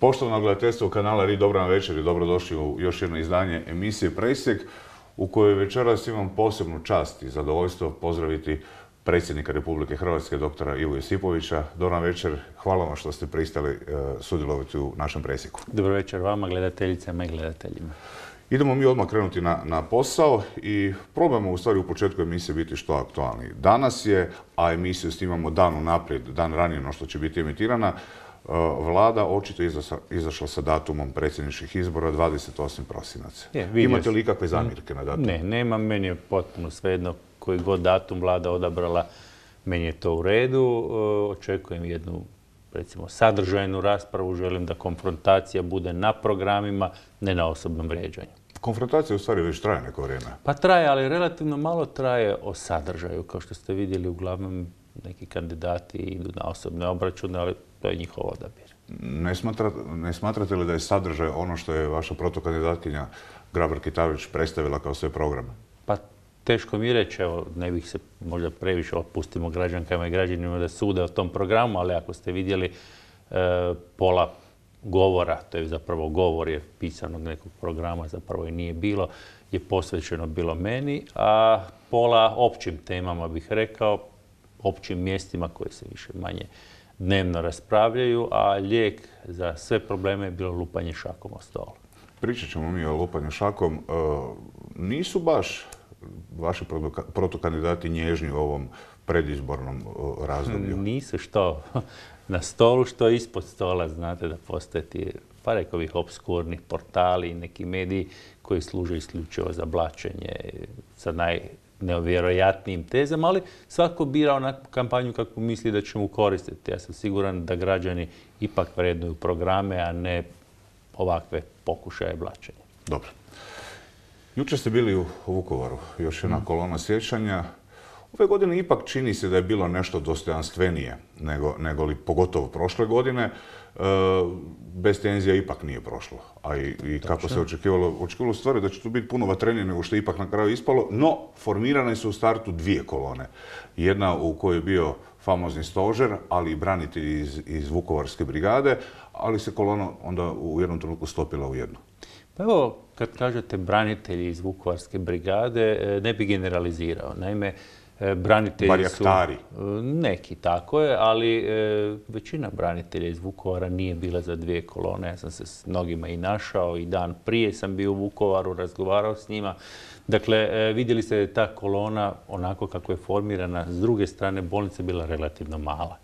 Poštovano gledateljstvo kanala RI, dobro nam večer i dobrodošli u još jedno izdanje emisije Presjek, u kojoj večeras imam posebnu čast i zadovoljstvo pozdraviti predsjednika Republike Hrvatske, doktora Ivu Josipovića. Dobro nam večer, hvala vam što ste pristali sudjelovati u našem presjeku. Dobro večer vama, gledateljicama i gledateljima. Idemo mi odmah krenuti na posao i probamo u stvari u početku emisije biti što aktualniji. Danas je, a emisiju snimamo dan unaprijed, dan ranije no što će biti emitirana, Vlada očito izašla sa datumom predsjedničkih izbora 28. prosinac. Imate li ikakve zamjerke na datum? Ne, nemam, meni je potpuno svejedno koji god datum Vlada odabrala, meni je to u redu. Očekujem jednu, recimo, sadržajnu raspravu, želim da konfrontacija bude na programima, ne na osobnom vrijeđanju. Konfrontacija u stvari već traje neko vrijeme. Pa traje, ali relativno malo traje o sadržaju. Kao što ste vidjeli, uglavnom neki kandidati idu na osobne obračune, ali to je njihov odabir. Ne smatrate li da je sadržaj ono što je vaša protokandidatkinja Grabar-Kitarović predstavila kao svoj program? Pa teško mi reći, evo, ne bih se možda previše opustimo građankama i građanima da sude o tom programu, ali ako ste vidjeli pola govora, to je zapravo govor jer pisanog nekog programa zapravo i nije bilo, je posvećeno bilo meni, a pola općim temama bih rekao, općim mjestima koji se više manje dnevno raspravljaju, a lijek za sve probleme je bilo lupanje šakom o stol. Pričat ćemo mi o lupanju šakom. Nisu baš vaši protokandidati nježni u ovom predizbornom razdoblju? Nisu što na stolu, što ispod stola. Znate da postoje ti, pa rekao bih, obskurni portali i neki mediji koji služe isključivo za blaćenje sa najnevjerojatnijim tezama, ali svako bira onakvu kampanju kako misli da će mu koristiti. Ja sam siguran da građani ipak vrednuju programe, a ne ovakve pokušaje blaćenja. Dobro. Jučer ste bili u Vukovaru, još jedna kolona sjećanja. Ove godine ipak čini se da je bilo nešto dostojanstvenije nego li pogotovo prošle godine. Bez tenzija ipak nije prošlo. A i kako se očekivalo stvari da će tu biti puno vatrenije nego što je ipak na kraju ispalo. No, formirane su u startu dvije kolone. Jedna u kojoj je bio famozni stožer, ali i branitelji iz Vukovarske brigade, ali se kolona onda u jednom trenutku stopila u jednu. Pa evo, kad kažete branitelji iz Vukovarske brigade, ne bi generalizirao. Naime, branitelji su... Neki, tako je, ali većina branitelja iz Vukovara nije bila za dvije kolone. Ja sam se s mnogima i našao i dan prije sam bio u Vukovaru, razgovarao s njima. Dakle, vidjeli ste da je ta kolona, onako kako je formirana, s druge strane bolnica bila relativno mala.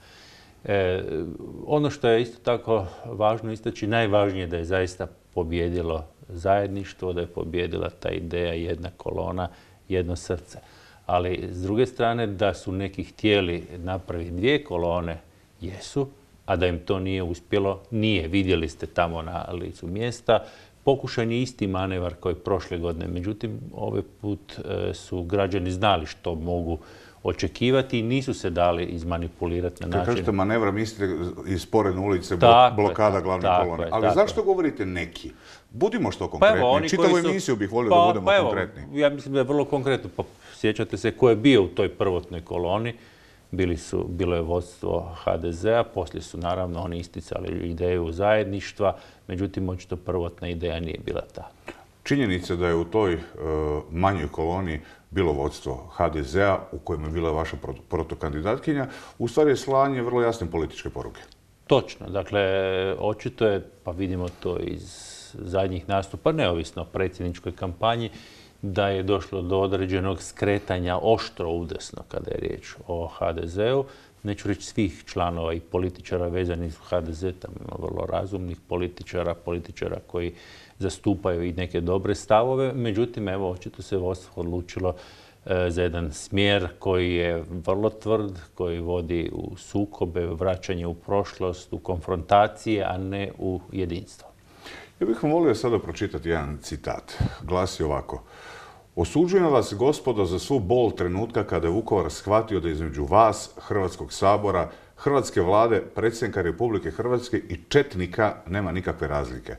Ono što je isto tako važno istaći, najvažnije je da je zaista pobjedilo zajedništvo, da je pobjedila ta ideja jedna kolona, jedno srce. Ali s druge strane da su neki htjeli napraviti dvije kolone, jesu, a da im to nije uspjelo, nije. Vidjeli ste tamo na licu mjesta. Pokušan je isti manevar koji prošle godine. Međutim, ovaj put su građani znali što mogu očekivati i nisu se dali izmanipulirati na način... Kad kažete manevra, mislite iz sporedne ulice, blokada glavne kolone. Ali zašto govorite neki? Budimo što konkretni. Čitavu emisiju bih volio da budemo konkretni. Ja mislim da je vrlo konkretno. Sjećate se ko je bio u toj prvotnoj koloni. Bilo je vodstvo HDZ-a, poslije su naravno oni isticali ideju zajedništva, međutim očito prvotna ideja nije bila ta. Činjenica da je u toj manjoj koloni bilo vodstvo HDZ-a, u kojem je bila vaša protokandidatkinja, u stvari je slanje vrlo jasne političke poruke. Točno. Dakle, očito je, pa vidimo to iz zadnjih nastupa, neovisno o predsjedničkoj kampanji, da je došlo do određenog skretanja oštro udesno kada je riječ o HDZ-u. Neću reći svih članova i političara vezanih uz HDZ, tamo ima vrlo razumnih političara koji zastupaju i neke dobre stavove. Međutim, evo, očito se vodstvo odlučilo za jedan smjer koji je vrlo tvrd, koji vodi u sukobe, vraćanje u prošlost, u konfrontacije, a ne u jedinstvo. Ja bih vam volio sada pročitati jedan citat. Glasi ovako. Osuđujem vas, gospodo, za svu bol trenutka kada je Vukovar shvatio da između vas, Hrvatskog sabora, Hrvatske vlade, predsjednika Republike Hrvatske i četnika nema nikakve razlike.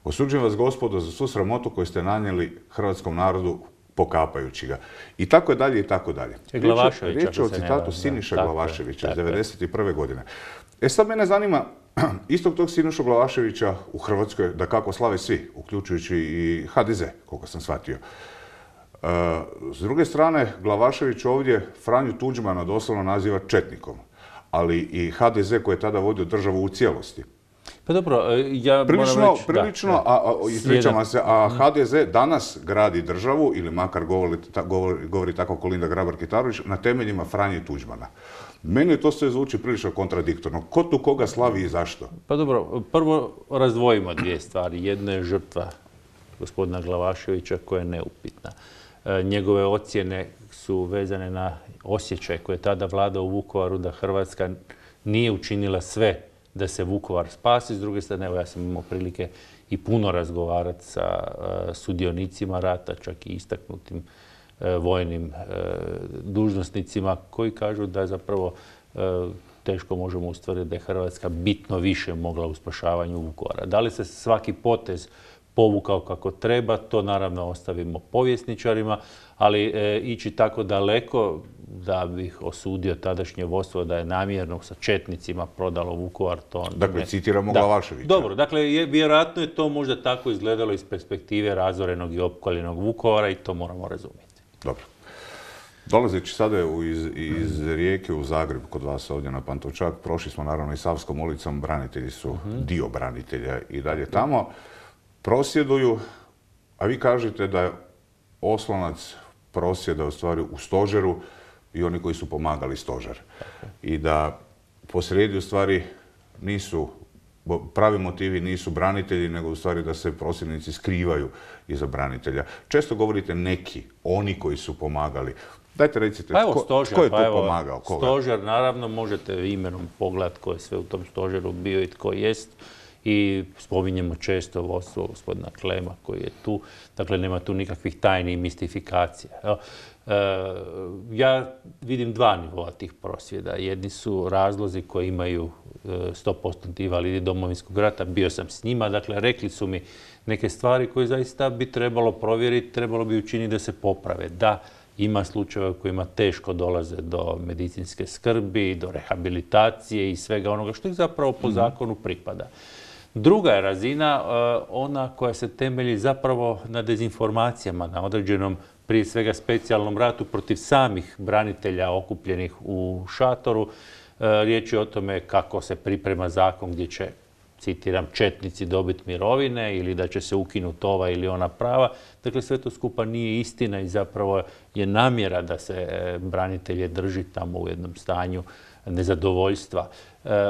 Osuđujem vas, gospodo, za svu sramotu koju ste nanijeli hrvatskom narodu pokapajući ga. I tako je dalje i tako dalje. Riječ je o citatu Siniše Glavaševića iz 1991. godine. Sad mene zanima, Istog tog Sinišu Glavaševića u Hrvatskoj, da kako slave svi, uključujući i HDZ, koliko sam shvatio. S druge strane, Glavašević ovdje Franju Tuđmana doslovno naziva četnikom, ali i HDZ koji je tada vodio državu u cijelosti. Pa dobro, ja moram reći... Prilično, ispričavam se, a HDZ danas gradi državu, ili makar govori tako Kolinda Grabar-Kitarović, na temeljima Franje Tuđmana. Meni to sve zvuči prilično kontradiktorno. Ko tu koga slavi i zašto? Pa dobro, prvo razdvojimo dvije stvari. Jedna je žrtva gospodina Glavaševića koja je neupitna. Njegove ocjene su vezane na osjećaj koji je tada vladao u Vukovaru da Hrvatska nije učinila sve da se Vukovar spasi. S druge strane, evo ja sam imao prilike i puno razgovarati sa sudionicima rata, čak i istaknutim vojnim dužnosnicima koji kažu da zapravo teško možemo ustvrditi da je Hrvatska bitno više mogla u spašavanju Vukovara. Da li se svaki potez povukao kako treba, to naravno ostavimo povjesničarima, ali ići tako daleko da bih osudio tadašnje vodstvo da je namjerno sa četnicima prodalo Vukovar, to... Dakle, citiramo Glavaševića. Dobro, dakle, vjerojatno je to možda tako izgledalo iz perspektive razorenog i opkoljenog Vukovara i to moramo razumjeti. Dobro. Dolazeći sada iz Rijeke u Zagreb, kod vas ovdje na Pantovčak, prošli smo naravno i Savskom ulicom, branitelji su dio branitelja i dalje tamo. Prosvjeduju, a vi kažete da je oslonac prosvjeda u stvari u stožeru i oni koji su pomagali stožer. I da posrijedi u stvari nisu, pravi motivi nisu branitelji, nego u stvari da se prosvjednici skrivaju iza branitelja. Često govorite neki, oni koji su pomagali. Dajte recite, tko je tu pomagao? Koga? Stožer, naravno, možete imenom pogledati ko je sve u tom stožeru bio i tko jest. I spominjemo često vodstvo gospodina Klema koji je tu. Dakle, nema tu nikakvih tajni i mistifikacija. Ja vidim dva nivoa tih prosvjeda. Jedni su razlozi koji imaju 100% invalidi Domovinskog rata. Bio sam s njima. Dakle, rekli su mi neke stvari koje zaista bi trebalo provjeriti, trebalo bi učiniti da se poprave. Da, ima slučajeva kojima teško dolaze do medicinske skrbi, do rehabilitacije i svega onoga što ih zapravo po zakonu pripada. Druga je razina ona koja se temelji zapravo na dezinformacijama, na određenom, prije svega, specijalnom ratu protiv samih branitelja okupljenih u šatoru. Riječ je o tome kako se priprema zakon gdje će, citiram, četnici dobiti mirovine ili da će se ukinuti ova ili ona prava. Dakle, sve to skupa nije istina i zapravo je namjera da se branitelje drži tamo u jednom stanju nezadovoljstva.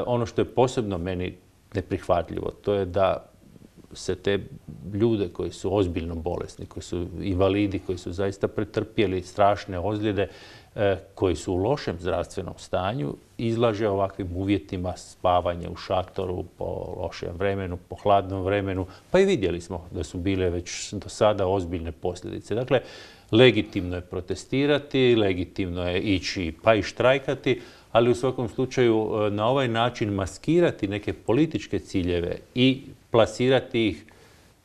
Ono što je posebno meni neprihvatljivo, to je da se te ljude koji su ozbiljno bolesni, koji su invalidi, koji su zaista pretrpjeli strašne ozljede, koji su u lošem zdravstvenom stanju, izlaže ovakvim uvjetima spavanja u šatoru po lošem vremenu, po hladnom vremenu. Pa i vidjeli smo da su bile već do sada ozbiljne posljedice. Dakle, legitimno je protestirati, legitimno je ići pa i štrajkati, ali u svakom slučaju na ovaj način maskirati neke političke ciljeve i plasirati ih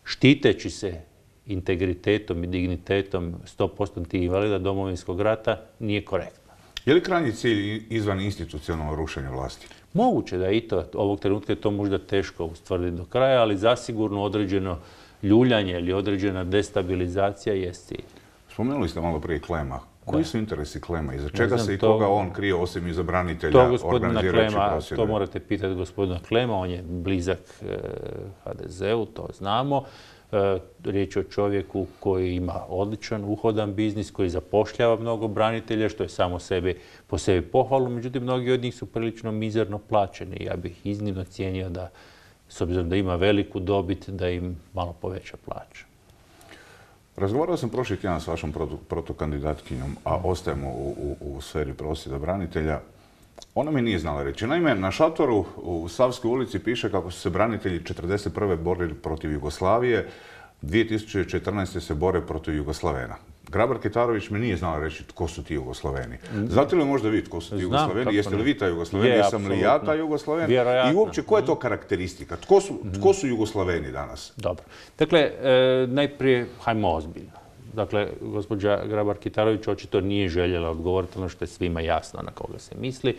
štiteći se integritetom i dignitetom 100% invalida Domovinskog rata nije korektno. Je li krajnji cilj izvan institucionalno rušenje vlasti? Moguće da i to. Ovog trenutka je to možda teško ustvrditi do kraja, ali zasigurno određeno ljuljanje ili određena destabilizacija jest cilj. Spomenuli ste malo prije Klema. Koji su interesi Klema? Iza čega se i koga on krije osim iza branitelja organizirajući prosvjede? To morate pitati gospodina Klema, on je blizak HDZ-u, to znamo. Riječ je o čovjeku koji ima odličan, uhodan biznis, koji zapošljava mnogo branitelja, što je samo po sebi pohvalno. Međutim, mnogi od njih su prilično mizerno plaćeni. Ja bih iznimno cijenio da, s obzirom da ima veliku dobit, da im malo poveća plaća. Razgovarao sam prošli tjedan s vašom protukandidatkinjom, a ostajemo u sferi prosvjeda branitelja. Ona mi nije znala reći. Naime, na šatoru u Savskoj ulici piše kako su se branitelji 1941. borili protiv Jugoslavije, 2014. se bore protiv Jugoslavena. Grabar-Kitarović mi nije znala reći tko su ti Jugoslaveni. Znate li možda vi tko su ti Jugoslaveni? Jeste li vi taj Jugoslaveni? Jesam li ja taj Jugoslaven? I uopće, koja je to karakteristika? Tko su Jugoslaveni danas? Dobro. Dakle, najprije, hajmo ozbiljno. Dakle, gospođa Grabar-Kitarović očito nije željela odgovoriti ono što je svima jasno na koga se misli.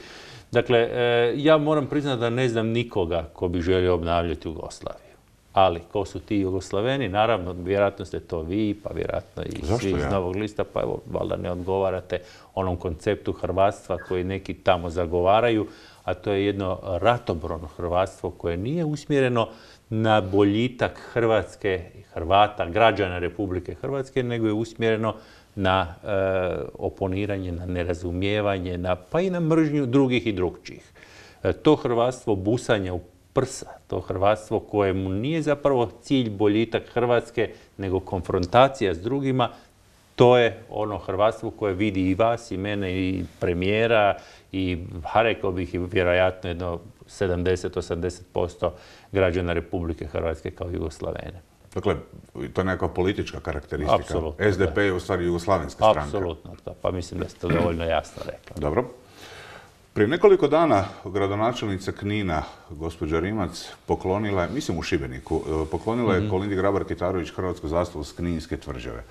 Dakle, ja moram priznati da ne znam nikoga ko bi želio obnavljati Jugoslaviju. Ali, ko su ti Jugoslaveni? Naravno, vjerojatno ste to vi, pa vjerojatno i svi iz Novog lista, pa evo, valjda ne odgovarate onom konceptu hrvatstva koji neki tamo zagovaraju, a to je jedno ratoborno hrvatstvo koje nije usmjereno na boljitak Hrvatske, Hrvata, građana Republike Hrvatske, nego je usmjereno na oponiranje, na nerazumijevanje, pa i na mržnju drugih i drugčijih. To hrvatstvo busanja u prsa, to hrvatstvo kojemu nije zapravo cilj boljitak Hrvatske, nego konfrontacija s drugima, to je ono hrvatstvo koje vidi i vas, i mene, i premijera, i rekao bih i vjerojatno jedno 70-80% građana Republike Hrvatske kao Jugoslavene. Dakle, to je neka politička karakteristika. Apsolutno. SDP je u stvari jugoslavenska stranka. Apsolutno, pa mislim da ste to dovoljno jasno rekli. Dobro. Prije nekoliko dana gradonačelnica Knina, gospođa Rimac, poklonila je, mislim u Šibeniku, poklonila je Kolindi Grabar-Kitarović hrvatsku zastavu s Kninske tvrđave.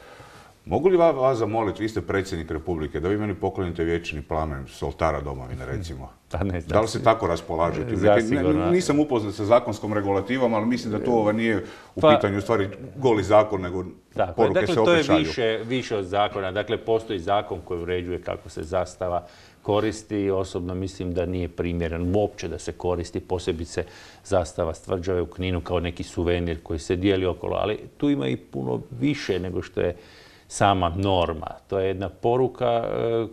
Mogu li vas zamoliti, vi ste predsjednik Republike, da vi meni poklonite vječni plamen s oltara domovine, recimo? Da li se tako raspolažete? Nisam upoznat sa zakonskom regulativom, ali mislim da to nije u pitanju u stvari goli zakon, nego poruke se opet šalju. To je više od zakona. Dakle, postoji zakon koji uređuje kako se zastava koristi. Osobno mislim da nije primjeren uopće da se koristi, posebice zastava s tvrđave u Kninu kao neki suvenir koji se dijeli okolo. Ali tu ima i puno više nego što je sama norma. To je jedna poruka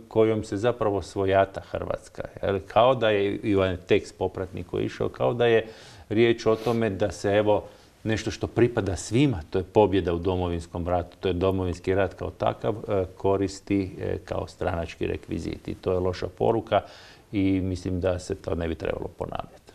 kojom se zapravo svojata Hrvatska. Kao da je i ovaj tekst popratni koji je išao, kao da je riječ o tome da se evo nešto što pripada svima, to je pobjeda u Domovinskom ratu, to je Domovinski rat kao takav, koristi kao stranački rekvizit. I to je loša poruka i mislim da se to ne bi trebalo ponavljati.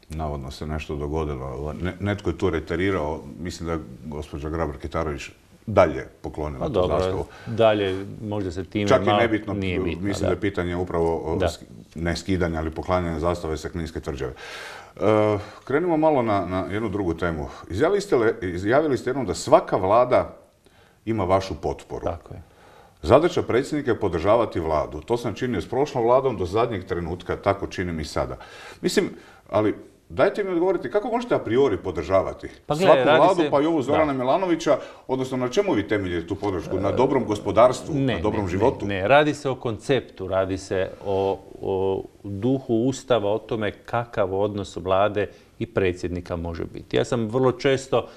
Navodno se nešto dogodilo. Netko je tu reterirao, mislim da je gospođa Grabar-Kitarović dalje poklonila tu zastavu. Dalje, možda se time čak i nebitno, mislim da je pitanje upravo ne skidanja, ali poklanjanja zastave sa Kninske tvrđave. Krenimo malo na jednu drugu temu. Izjavili ste jednom da svaka vlada ima vašu potporu. Tako je. Zadaća predsjednika je podržavati vladu. To sam činio s prošlom vladom do zadnjeg trenutka, tako činim i sada. Mislim, ali dajte mi odgovoriti, kako možete a priori podržavati svaku vladu, pa i ovu Zorana Milanovića, odnosno na čemu vi temeljite tu podršku? Na dobrom gospodarstvu, na dobrom životu? Ne, radi se o konceptu, radi se o duhu Ustava, o tome kakav odnos vlade i predsjednika može biti. Ja sam vrlo često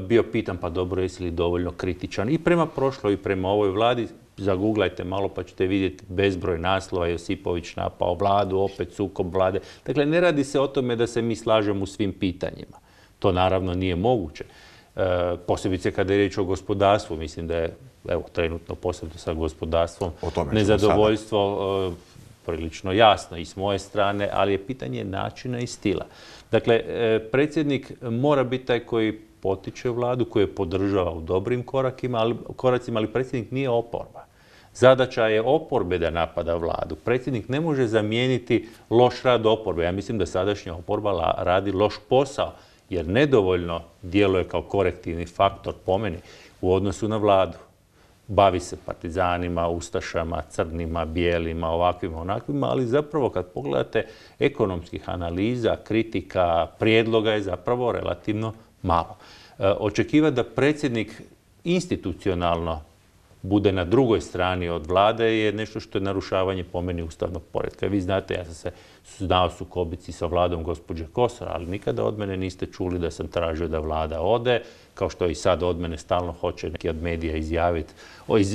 bio pitan, pa dobro, jesi li dovoljno kritičan i prema prošloj i prema ovoj vladi. Zaguglajte malo pa ćete vidjeti bezbroj naslova, Josipović napao vladu, opet sukob vlade. Dakle, ne radi se o tome da se mi slažemo u svim pitanjima. To naravno nije moguće. Posebice kada je riječ o gospodarstvu, mislim da je, evo, trenutno posebno sa gospodarstvom, nezadovoljstvo prilično jasno i s moje strane, ali je pitanje načina i stila. Dakle, predsjednik mora biti taj koji potiče vladu, koju je podržava u dobrim koracima, ali predsjednik nije oporba. Zadaća je oporbe da napada vladu. Predsjednik ne može zamijeniti loš rad oporbe. Ja mislim da sadašnja oporba radi loš posao, jer nedovoljno djeluje kao korektivni faktor po meni u odnosu na vladu. Bavi se partizanima, ustašama, crnima, bijelima, ovakvima, onakvima, ali zapravo kad pogledate ekonomskih analiza, kritika, prijedloga je zapravo relativno malo. Očekivati da predsjednik institucionalno bude na drugoj strani od vlade je nešto što je narušavanje po meni ustavnog poretka. Vi znate, ja sam se znao sukobiti sa vladom gospođe Kosor, ali nikada od mene niste čuli da sam tražio da vlada ode, kao što i sad od mene stalno hoće neki od medija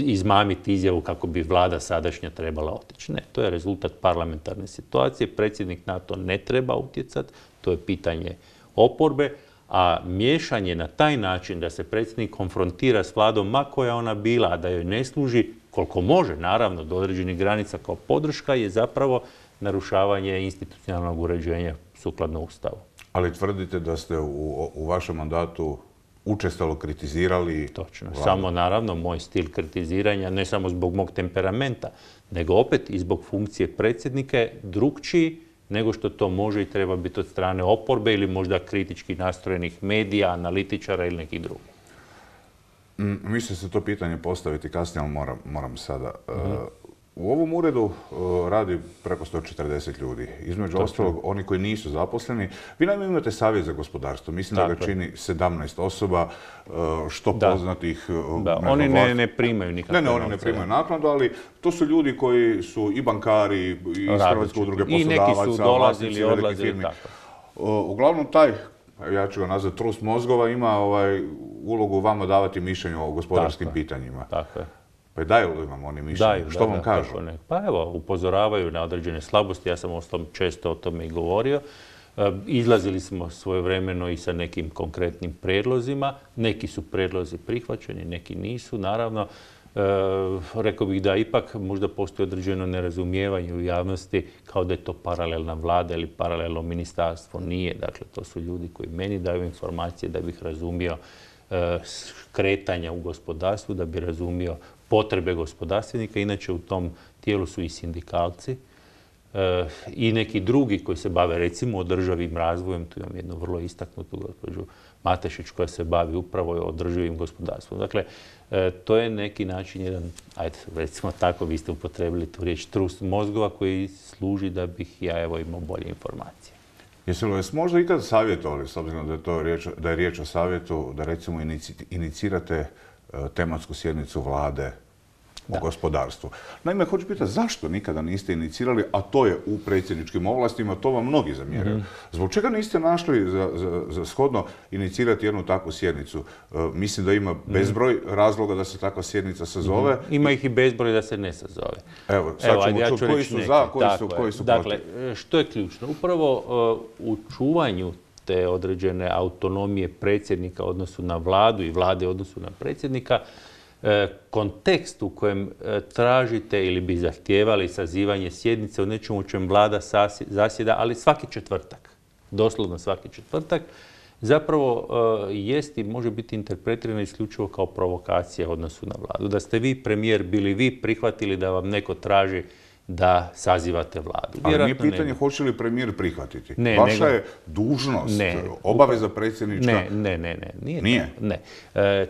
izmamiti izjavu kako bi vlada sadašnja trebala otići. Ne, to je rezultat parlamentarne situacije. Predsjednik na to ne treba utjecati, to je pitanje oporbe. A miješanje na taj način da se predsjednik konfrontira s vladom, ma koja ona bila, a da joj ne služi, koliko može, naravno, do određenih granica kao podrška, je zapravo narušavanje institucionalnog uređenja sukladno Ustavu. Ali tvrdite da ste u vašem mandatu učestalo kritizirali... Točno. Samo, naravno, moj stil kritiziranja, ne samo zbog mog temperamenta, nego opet i zbog funkcije predsjednika je drukčiji nego što to može i treba biti od strane oporbe ili možda kritički nastrojenih medija, analitičara ili nekih drugih. Mislim se to pitanje postaviti kasnije, ali moram sada. U ovom uredu radi preko 140 ljudi. Između ostalog, oni koji nisu zaposleni. Vi naime imate savjet za gospodarstvo. Mislim da ga čini 17 osoba, što poznatih... Oni ne primaju nikakve novce. Ne, oni ne primaju naknadu, ali to su ljudi koji su i bankari, i iz Hrvatske udruge poslodavaca, i neki su dolazili, odlazili, tako. Uglavnom, taj, ja ću ga nazvati trust mozgova, ima ulogu vama davati mišljenje o gospodarskim pitanjima. Tako je. Pa daju li vam oni mišljenje? Što vam kažu? Pa evo, upozoravaju na određene slabosti, ja sam često o tome i govorio. Izlazili smo svojevremeno i sa nekim konkretnim predlozima. Neki su predlozi prihvaćeni, neki nisu. Naravno, rekao bih da ipak možda postoji određeno nerazumijevanje u javnosti kao da je to paralelna vlada ili paralelno ministarstvo. Nije. Dakle, to su ljudi koji meni daju informacije da bih razumio kretanja u gospodarstvu, da bi razumio potrebe gospodarstvenika. Inače, u tom tijelu su i sindikalci i neki drugi koji se bave, recimo, održivim razvojem. Tu imam jednu vrlo istaknutu gospođu Matešić koja se bavi upravo održivim gospodarstvom. Dakle, to je neki način jedan, ajde, recimo tako, vi ste upotrebili tu riječ, trust mozgova koji služi da bih ja imao bolje informacije. Jeste li vas možda ikad savjetovali, s obzirom da je riječ o savjetu, da recimo inicirate tematsku sjednicu vlade o gospodarstvu? Naime, hoću pitati zašto nikada niste inicirali, a to je u predsjedničkim ovlastima, to vam mnogi zamjeraju. Zbog čega niste našli za shodno inicirati jednu takvu sjednicu? Mislim da ima bezbroj razloga da se takva sjednica sazove. Ima ih i bezbroj da se ne sazove. Evo, sad ćemo čuti koji su za, koji su protiv. Dakle, što je ključno? Upravo u čuvanju te određene autonomije predsjednika u odnosu na vladu i vlade u odnosu na predsjednika, kontekst u kojem tražite ili bi zahtijevali sazivanje sjednice o nečemu u čem vlada zasjeda, ali svaki četvrtak, doslovno svaki četvrtak, zapravo jest i može biti interpretirano isključivo kao provokacija u odnosu na vladu. Da ste vi, premijer, bili vi prihvatili da vam neko traži da sazivate vladu. Ali nije pitanje hoće li premijer prihvatiti. Vaša je dužnost, obaveza predsjednička. Nije. Ne.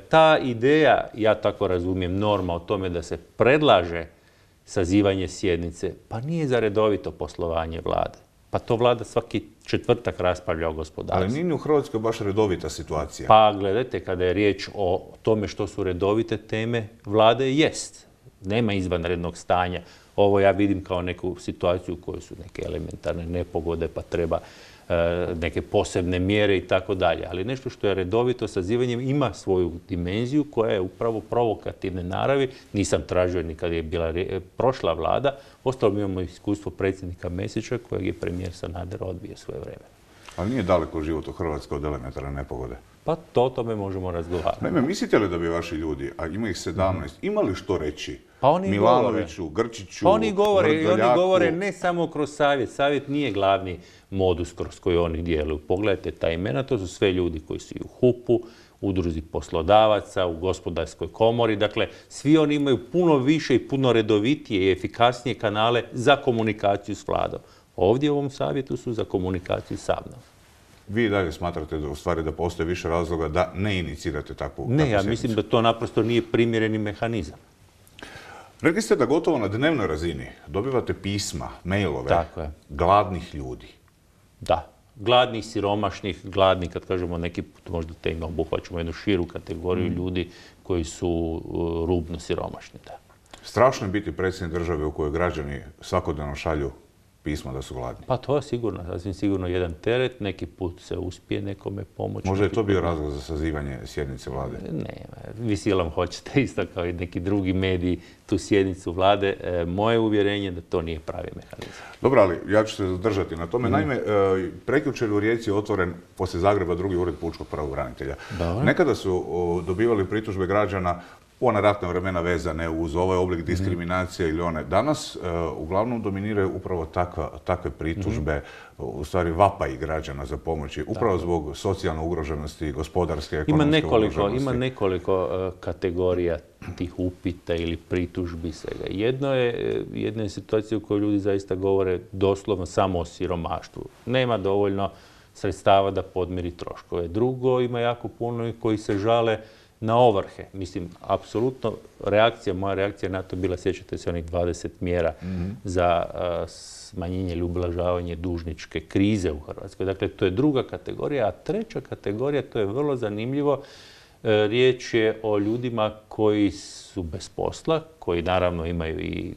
Ta ideja, ja tako razumijem, norma o tome da se predlaže sazivanje sjednice, pa nije za redovito poslovanje vlade. Pa to vlada svaki četvrtak raspravlja o gospodarstvu. Ali nije u Hrvatskoj baš redovita situacija. Pa gledajte, kada je riječ o tome što su redovite teme, vlade jest. Nema izvanrednog stanja. Ovo ja vidim kao neku situaciju u kojoj su neke elementarne nepogode, pa treba neke posebne mjere i tako dalje. Ali nešto što je redovito sazivanjem ima svoju dimenziju koja je upravo provokativne naravi. Nisam tražio ni kad je bila prošla vlada. Ostalo imamo iskustvo predsjednika Mesića kojeg je premijer Sanader odbio svoje vreme. Ali nije daleko život u Hrvatskoj od elementarne nepogode. Pa to o tome možemo razgovarati. Naime, mislite li da bi vaši ljudi, a ima ih 17, imali što reći? Pa oni Milanoviću, Grčiću, pa oni govore ne samo kroz savjet. Savjet nije glavni modus kroz koji oni djeluju. Pogledajte ta imena, to su sve ljudi koji su i u HUP-u, udruzi poslodavaca, u gospodarskoj komori. Dakle, svi oni imaju puno više i puno redovitije i efikasnije kanale za komunikaciju s vladom. Ovdje u ovom savjetu su za komunikaciju sa mnom. Vi dalje smatrate da u stvari da postoje više razloga da ne inicirate takvu Ne, ja mislim da to naprosto nije primjereni mehanizam. Rekli ste da gotovo na dnevnoj razini dobivate pisma, mailove gladnih ljudi. Da. Gladnih, siromašnih, gladnih, kad kažemo neki put možda te ima obuhvaćamo jednu širu kategoriju ljudi koji su rubno siromašni. Da. Strašno je biti predsjednik države u kojoj građani svakodnevno šalju pisma da su gladni. Pa to je sigurno, sasvim sigurno jedan teret, neki put se uspije nekome pomoći. Možda je to bio razlog za sazivanje sjednice vlade? Ne, vi silom hoćete isto kao i neki drugi mediji tu sjednicu vlade. Moje uvjerenje da to nije pravi mehanizam. Dobro, ali ja ću se zadržati na tome. Naime, prekjučer u Rijeci je otvoren poslije Zagreba drugi ured pučkog pravobranitelja. Nekada su dobivali pritužbe građana ona ratna vremena vezane uz ovaj oblik diskriminacije ili one. Danas uglavnom dominiraju upravo takve pritužbe, u stvari vapaji građana za pomoći, upravo zbog socijalne ugroženosti, gospodarske, ekonomske ugroženosti. Ima nekoliko kategorija tih upita ili pritužbi svega. Jedna je situacija u kojoj ljudi zaista govore doslovno samo o siromaštvu. Nema dovoljno sredstava da podmiri troškove. Drugo, ima jako puno koji se žale na ovrhe. Mislim, apsolutno moja reakcija na to bila, sjećate se onih 20 mjera za smanjenje ili ublažavanje dužničke krize u Hrvatskoj. Dakle, to je druga kategorija, a treća kategorija, to je vrlo zanimljivo, riječ je o ljudima koji su bez posla, koji naravno imaju i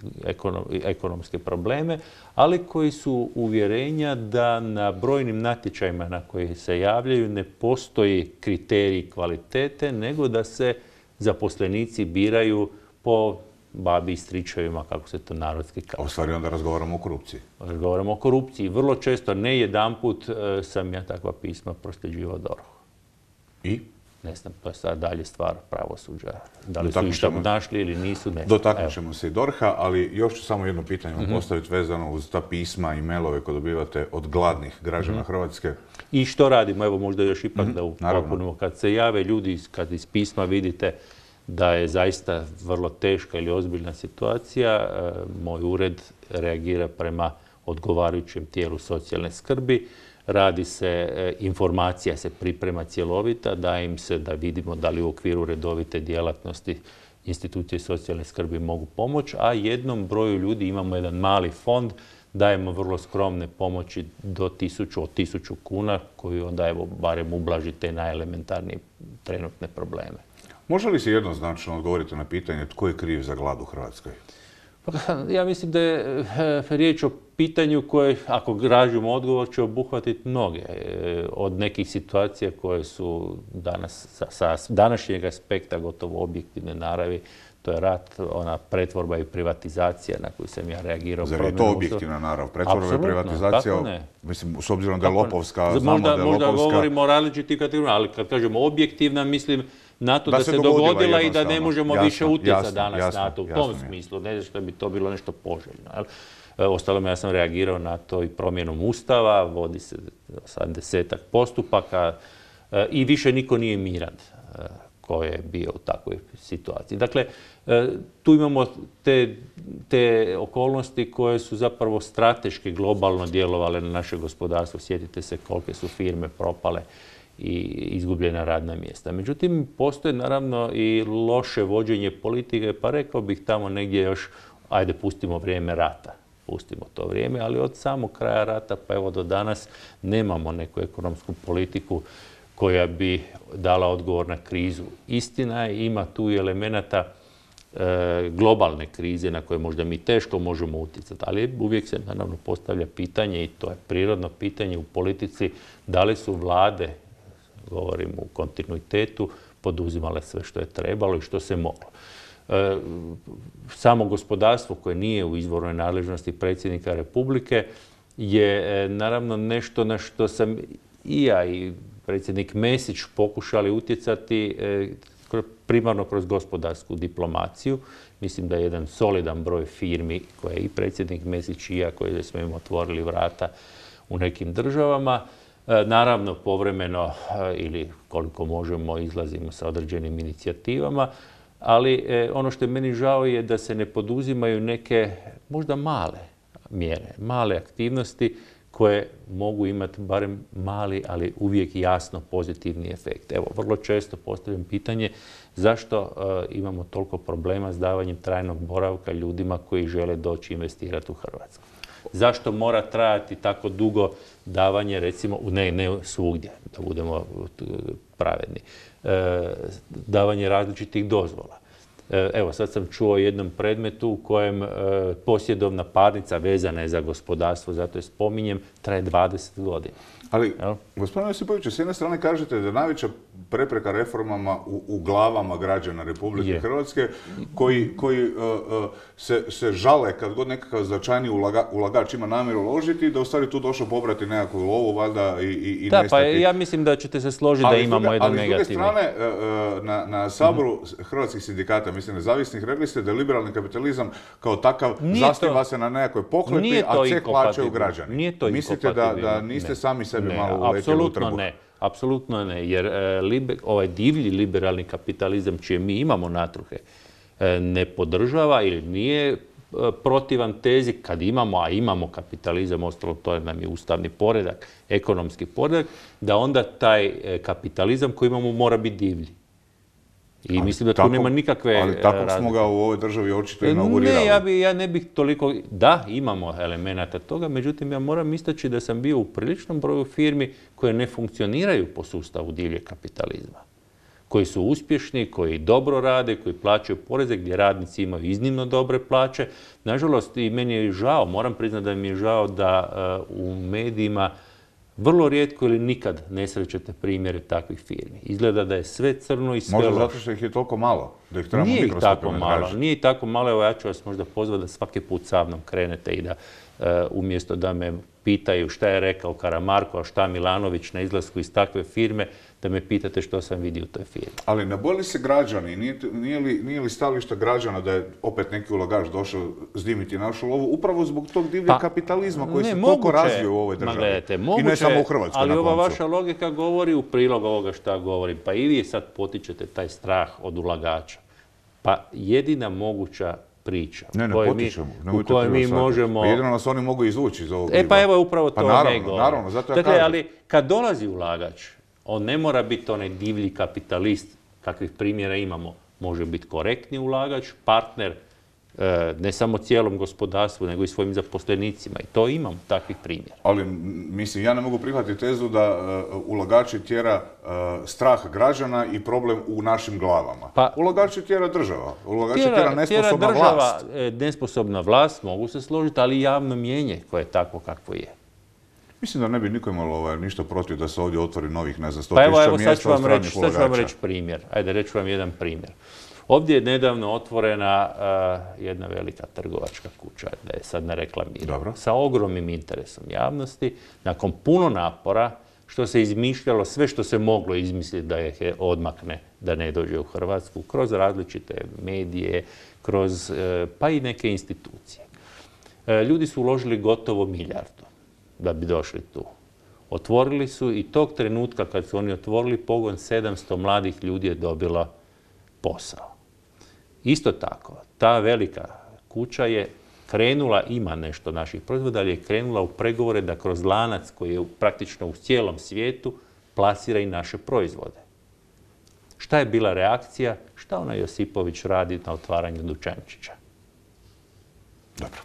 ekonomske probleme, ali koji su uvjerenja da na brojnim natječajima na koji se javljaju ne postoji kriterij kvalitete, nego da se zaposlenici biraju po babi i stričevima, kako se to narodski kaže. A u stvari onda razgovaramo o korupciji. Razgovaramo o korupciji. Vrlo često, ne jedanput, sam ja takva pisma prosljeđivao DORH-u. I? Ne znam, to je sad dalje stvar pravosuđa. Da li su išta našli ili nisu, ne znam. Dotaknut ćemo se i DORH-a, ali još ću samo jedno pitanje vam postaviti vezano uz ta pisma i mailove koje dobivate od gladnih građana Hrvatske. I što radimo? Evo možda još ipak da upotpunimo. Kad se jave ljudi, kad iz pisma vidite da je zaista vrlo teška ili ozbiljna situacija, moj ured reagira prema odgovarajućem tijelu socijalne skrbi. Radi se, informacija se priprema cjelovita, daje im se da vidimo da li u okviru redovite djelatnosti institucije socijalne skrbi mogu pomoći, a jednom broju ljudi imamo jedan mali fond, dajemo vrlo skromne pomoći do 1000 kuna, koji onda evo barem ublaži te najelementarnije trenutne probleme. Može li se jednoznačno odgovoriti na pitanje tko je kriv za glad u Hrvatskoj? Ja mislim da je riječ o pitanju koje, ako tražimo odgovor, će obuhvatiti mnoge. Od nekih situacija koje su danas, sa današnjeg aspekta gotovo objektivne naravi, to je rat, ona pretvorba i privatizacija na koju sam ja reagirao. Zar je to objektivna narav? Pretvorba i privatizacija, mislim, s obzirom da je lopovska, znamo da je lopovska. Možda govorimo o različitim kategorijama, ali kad kažemo objektivna, mislim na to da se dogodila i da ne možemo više utjecati danas na to. U tom smislu, ne znam što bi to bilo nešto poželjno. Ostalom, ja sam reagirao na to i promjenom Ustava, vodi se 70-ak postupaka i više niko nije miran ko je bio u takvoj situaciji. Dakle, tu imamo te okolnosti koje su zapravo strateški globalno djelovale na naše gospodarstvo. Sjetite se kolike su firme propale i izgubljena radna mjesta. Međutim, postoje naravno i loše vođenje politike, pa rekao bih tamo negdje još, ajde pustimo vrijeme rata. Pustimo to vrijeme, ali od samog kraja rata pa evo do danas nemamo neku ekonomsku politiku koja bi dala odgovor na krizu. Istina je, ima tu i elemenata globalne krize na koje možda mi teško možemo utjecati, ali uvijek se naravno postavlja pitanje, i to je prirodno pitanje u politici, da li su vlade, govorim u kontinuitetu, poduzimale sve što je trebalo i što se moglo. Samo gospodarstvo koje nije u izvornoj nadležnosti predsjednika Republike je naravno nešto na što sam i ja i predsjednik Mesić pokušali utjecati primarno kroz gospodarsku diplomaciju. Mislim da je jedan solidan broj firmi koje i predsjednik Mesić i ja, koji smo im otvorili vrata u nekim državama. Naravno, povremeno ili koliko možemo izlazimo sa određenim inicijativama, ali ono što je meni žao je da se ne poduzimaju neke možda male mjere, male aktivnosti koje mogu imati barem mali, ali uvijek jasno pozitivni efekt. Evo, vrlo često postavljam pitanje zašto imamo toliko problema s davanjem trajnog boravka ljudima koji žele doći investirati u Hrvatsku. Zašto mora trajati tako dugo davanje, recimo, ne svugdje, da budemo pravedni, davanje različitih dozvola. Evo, sad sam čuo o jednom predmetu u kojem posjedovna parnica vezana je za gospodarstvo, zato je spominjem, traje 20 godina. Ali, gospodine Josipoviću, s jedne strane kažete da je najveća prepreka reformama u glavama građana Republike Hrvatske, koji se žale kad god nekakav značajniji ulagač ima namjeru uložiti, da u stvari tu došao pobrati nekakvu lovu, valjda, i nestati. Da, pa ja mislim da ćete se složiti da imamo jedan negativni. Ali s druge strane, na Saboru hrvatskih sindikata, mislim nezavisnih, rekli ste da liberalni kapitalizam kao takav zasniva se na nekakvoj pohlepi, a ceh plaćaju građani. Nije to mislite da niste sami sebi malo uletili u trbuh? Apsolutno ne, jer ovaj divlji liberalni kapitalizam čije mi imamo natruhe ne podržava ili nije protivan tezi kad imamo, a imamo kapitalizam, ostalo to nam je ustavni poredak, ekonomski poredak, da onda taj kapitalizam koji imamo mora biti divlji. I mislim da tu nema nikakve razlike. Ali tako smo ga u ovoj državi očito inaugurirali. Ne, ja ne bih toliko... Da, imamo elemenata toga, međutim ja moram istaći da sam bio u priličnom broju firmi koje ne funkcioniraju po sustavu divljeg kapitalizma. Koji su uspješni, koji dobro rade, koji plaćaju poreze, gdje radnici imaju iznimno dobre plaće. Nažalost, i meni je žao, moram priznati da mi je žao da u medijima vrlo rijetko ili nikad ne srećete primjere takvih firmi. Izgleda da je sve crno i sve loše. Možda zato što ih je toliko malo, da ih trebamo mikroskopima tražiti. Nije ih tako malo, evo ja ću vas možda pozvati da svaki put sa mnom krenete i da umjesto da me pitaju šta je rekao Karamarko, a šta Milanović na izlasku iz takve firme, da me pitate što sam vidio u toj firmi. Ali ne boji se građani? Nije li stajalište građana da je opet neki ulagač došao zdimiti našu lovu upravo zbog tog divljeg kapitalizma koji se toliko razvio u ovoj državi? I ne samo u Hrvatskoj, ali ova vaša logika govori u prilog ovoga šta govorim. Pa i vi sad potičete taj strah od ulagača. Pa jedina moguća priča u kojoj mi možemo... Jedino nas oni mogu izvući iz ovog pa evo upravo to naravno, zato ja kažem. Ali kad dolazi ulagač, on ne mora biti onaj divlji kapitalist, kakvih primjera imamo. Može biti korektni ulagač, partner, ne samo cijelom gospodarstvu, nego i svojim zaposlenicima. I to imamo, takvih primjera. Ali, mislim, ja ne mogu prihvatiti tezu da ulagači tjera strah građana i problem u našim glavama. Ulagači tjera država. Ulagači tjera nesposobna vlast. Nesposobna vlast, mogu se složiti, ali i javno mnijenje koje je takvo kakvo je. Mislim da ne bi niko imalo ništa protiv da se ovdje otvori novih, ne znam, 100.000 mjesta od stranih ulagača. Sad ću vam reći primjer. Ajde, reću vam jedan primjer. Ovdje je nedavno otvorena jedna velika trgovačka kuća, da je sad ne reklamiram, sa ogromnim interesom javnosti, nakon puno napora, što se izmišljalo, sve što se moglo izmisliti da je odmakne, da ne dođe u Hrvatsku, kroz različite medije, kroz pa i neke institucije. Ljudi su uložili gotovo milijardu da bi došli tu. Otvorili su i tog trenutka kad su oni otvorili pogon, 700 mladih ljudi je dobilo posao. Isto tako, ta velika kuća je krenula, ima nešto naših proizvoda, ali je krenula u pregovore da kroz lanac koji je praktično u cijelom svijetu plasira i naše proizvode. Šta je bila reakcija? Šta ona Josipović radi na otvaranju dućančića? Dobro.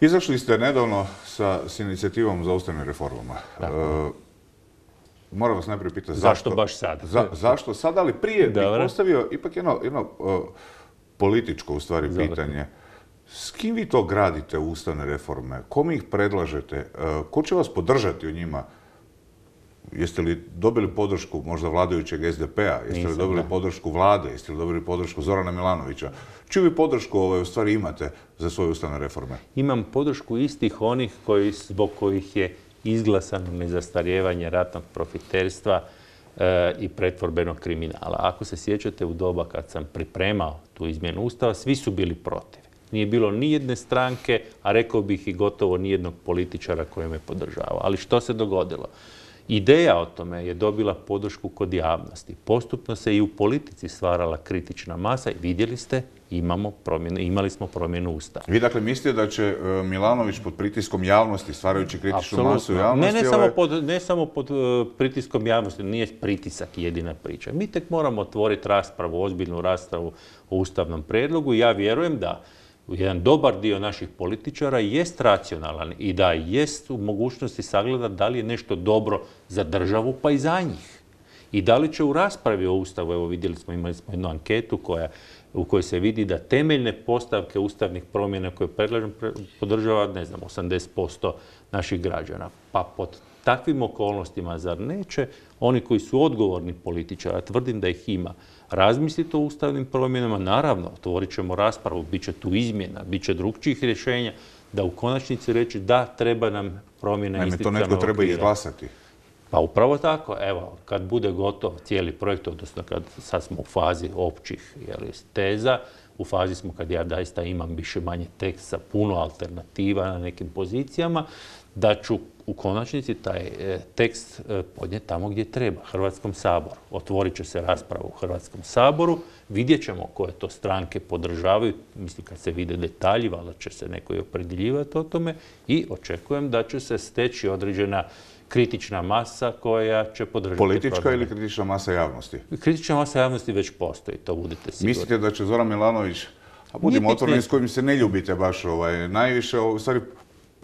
Izašli ste nedavno s inicijativom za ustavnim reformama. Moram vas najprije pitati zašto baš sad? Zašto sad, ali prije bih postavio ipak jedno političko u stvari pitanje. S kim vi to gradite ustavne reforme? Kome ih predlažete? Ko će vas podržati u njima? Jeste li dobili podršku možda vladajućeg SDP-a? Jeste li dobili podršku vlade? Jeste li dobili podršku Zorana Milanovića? Čiju vi podršku u stvari imate za svoje ustavne reforme? Imam podršku istih onih zbog kojih je izglasano nezastarijevanje ratnog profiterstva i pretvorbenog kriminala. Ako se sjećate u doba kad sam pripremao tu izmjenu Ustava, svi su bili protiv. Nije bilo ni jedne stranke, a rekao bih i gotovo ni jednog političara koji me podržava. Ali što se dogodilo? Ideja o tome je dobila podršku kod javnosti. Postupno se i u politici stvarala kritična masa i vidjeli ste, imali smo promjenu Ustava. Vi dakle mislite da će Milanović pod pritiskom javnosti, stvarajući kritičnu masu u javnosti... Ne samo pod pritiskom javnosti, nije pritisak jedina priča. Mi tek moramo otvoriti raspravu, ozbiljnu raspravu o ustavnom prijedlogu i ja vjerujem da jedan dobar dio naših političara jest racionalan i da jest u mogućnosti sagledati da li je nešto dobro za državu pa i za njih. I da li će u raspravi o Ustavu, evo vidjeli smo, imali smo jednu anketu u kojoj se vidi da temeljne postavke ustavnih promjena koje predlažem podržava, 80% naših građana. Pa pod takvim okolnostima, zar neće oni koji su odgovorni političari, tvrdim da ih ima, razmisliti o ustavnim promjenama, naravno, otvorit ćemo raspravu, bit će tu izmjena, bit će drugčijih rješenja, da u konačnici reći da treba nam promjena institucionalnog okvira. To netko treba izglasati. Pa upravo tako, evo, kad bude gotov cijeli projekt, odnosno kad sad smo u fazi općih teza, u fazi smo kad ja daista imam više manje tekst sa puno alternativa na nekim pozicijama, da ću u konačnici taj tekst podnijeti tamo gdje treba, Hrvatskom saboru. Otvorit će se rasprava u Hrvatskom saboru, vidjet ćemo koje to stranke podržavaju, mislim kad se vide detalji, valjda će se neko i opredjeljivati o tome i očekujem da će se steći određena kritična masa koja će podržati politička promjene. ili kritična masa javnosti? Kritična masa javnosti već postoji, to budete sigurni. Mislite da će Zoran Milanović, a budimo otvoreni, s kojim se ne ljubite baš najviše, u stvari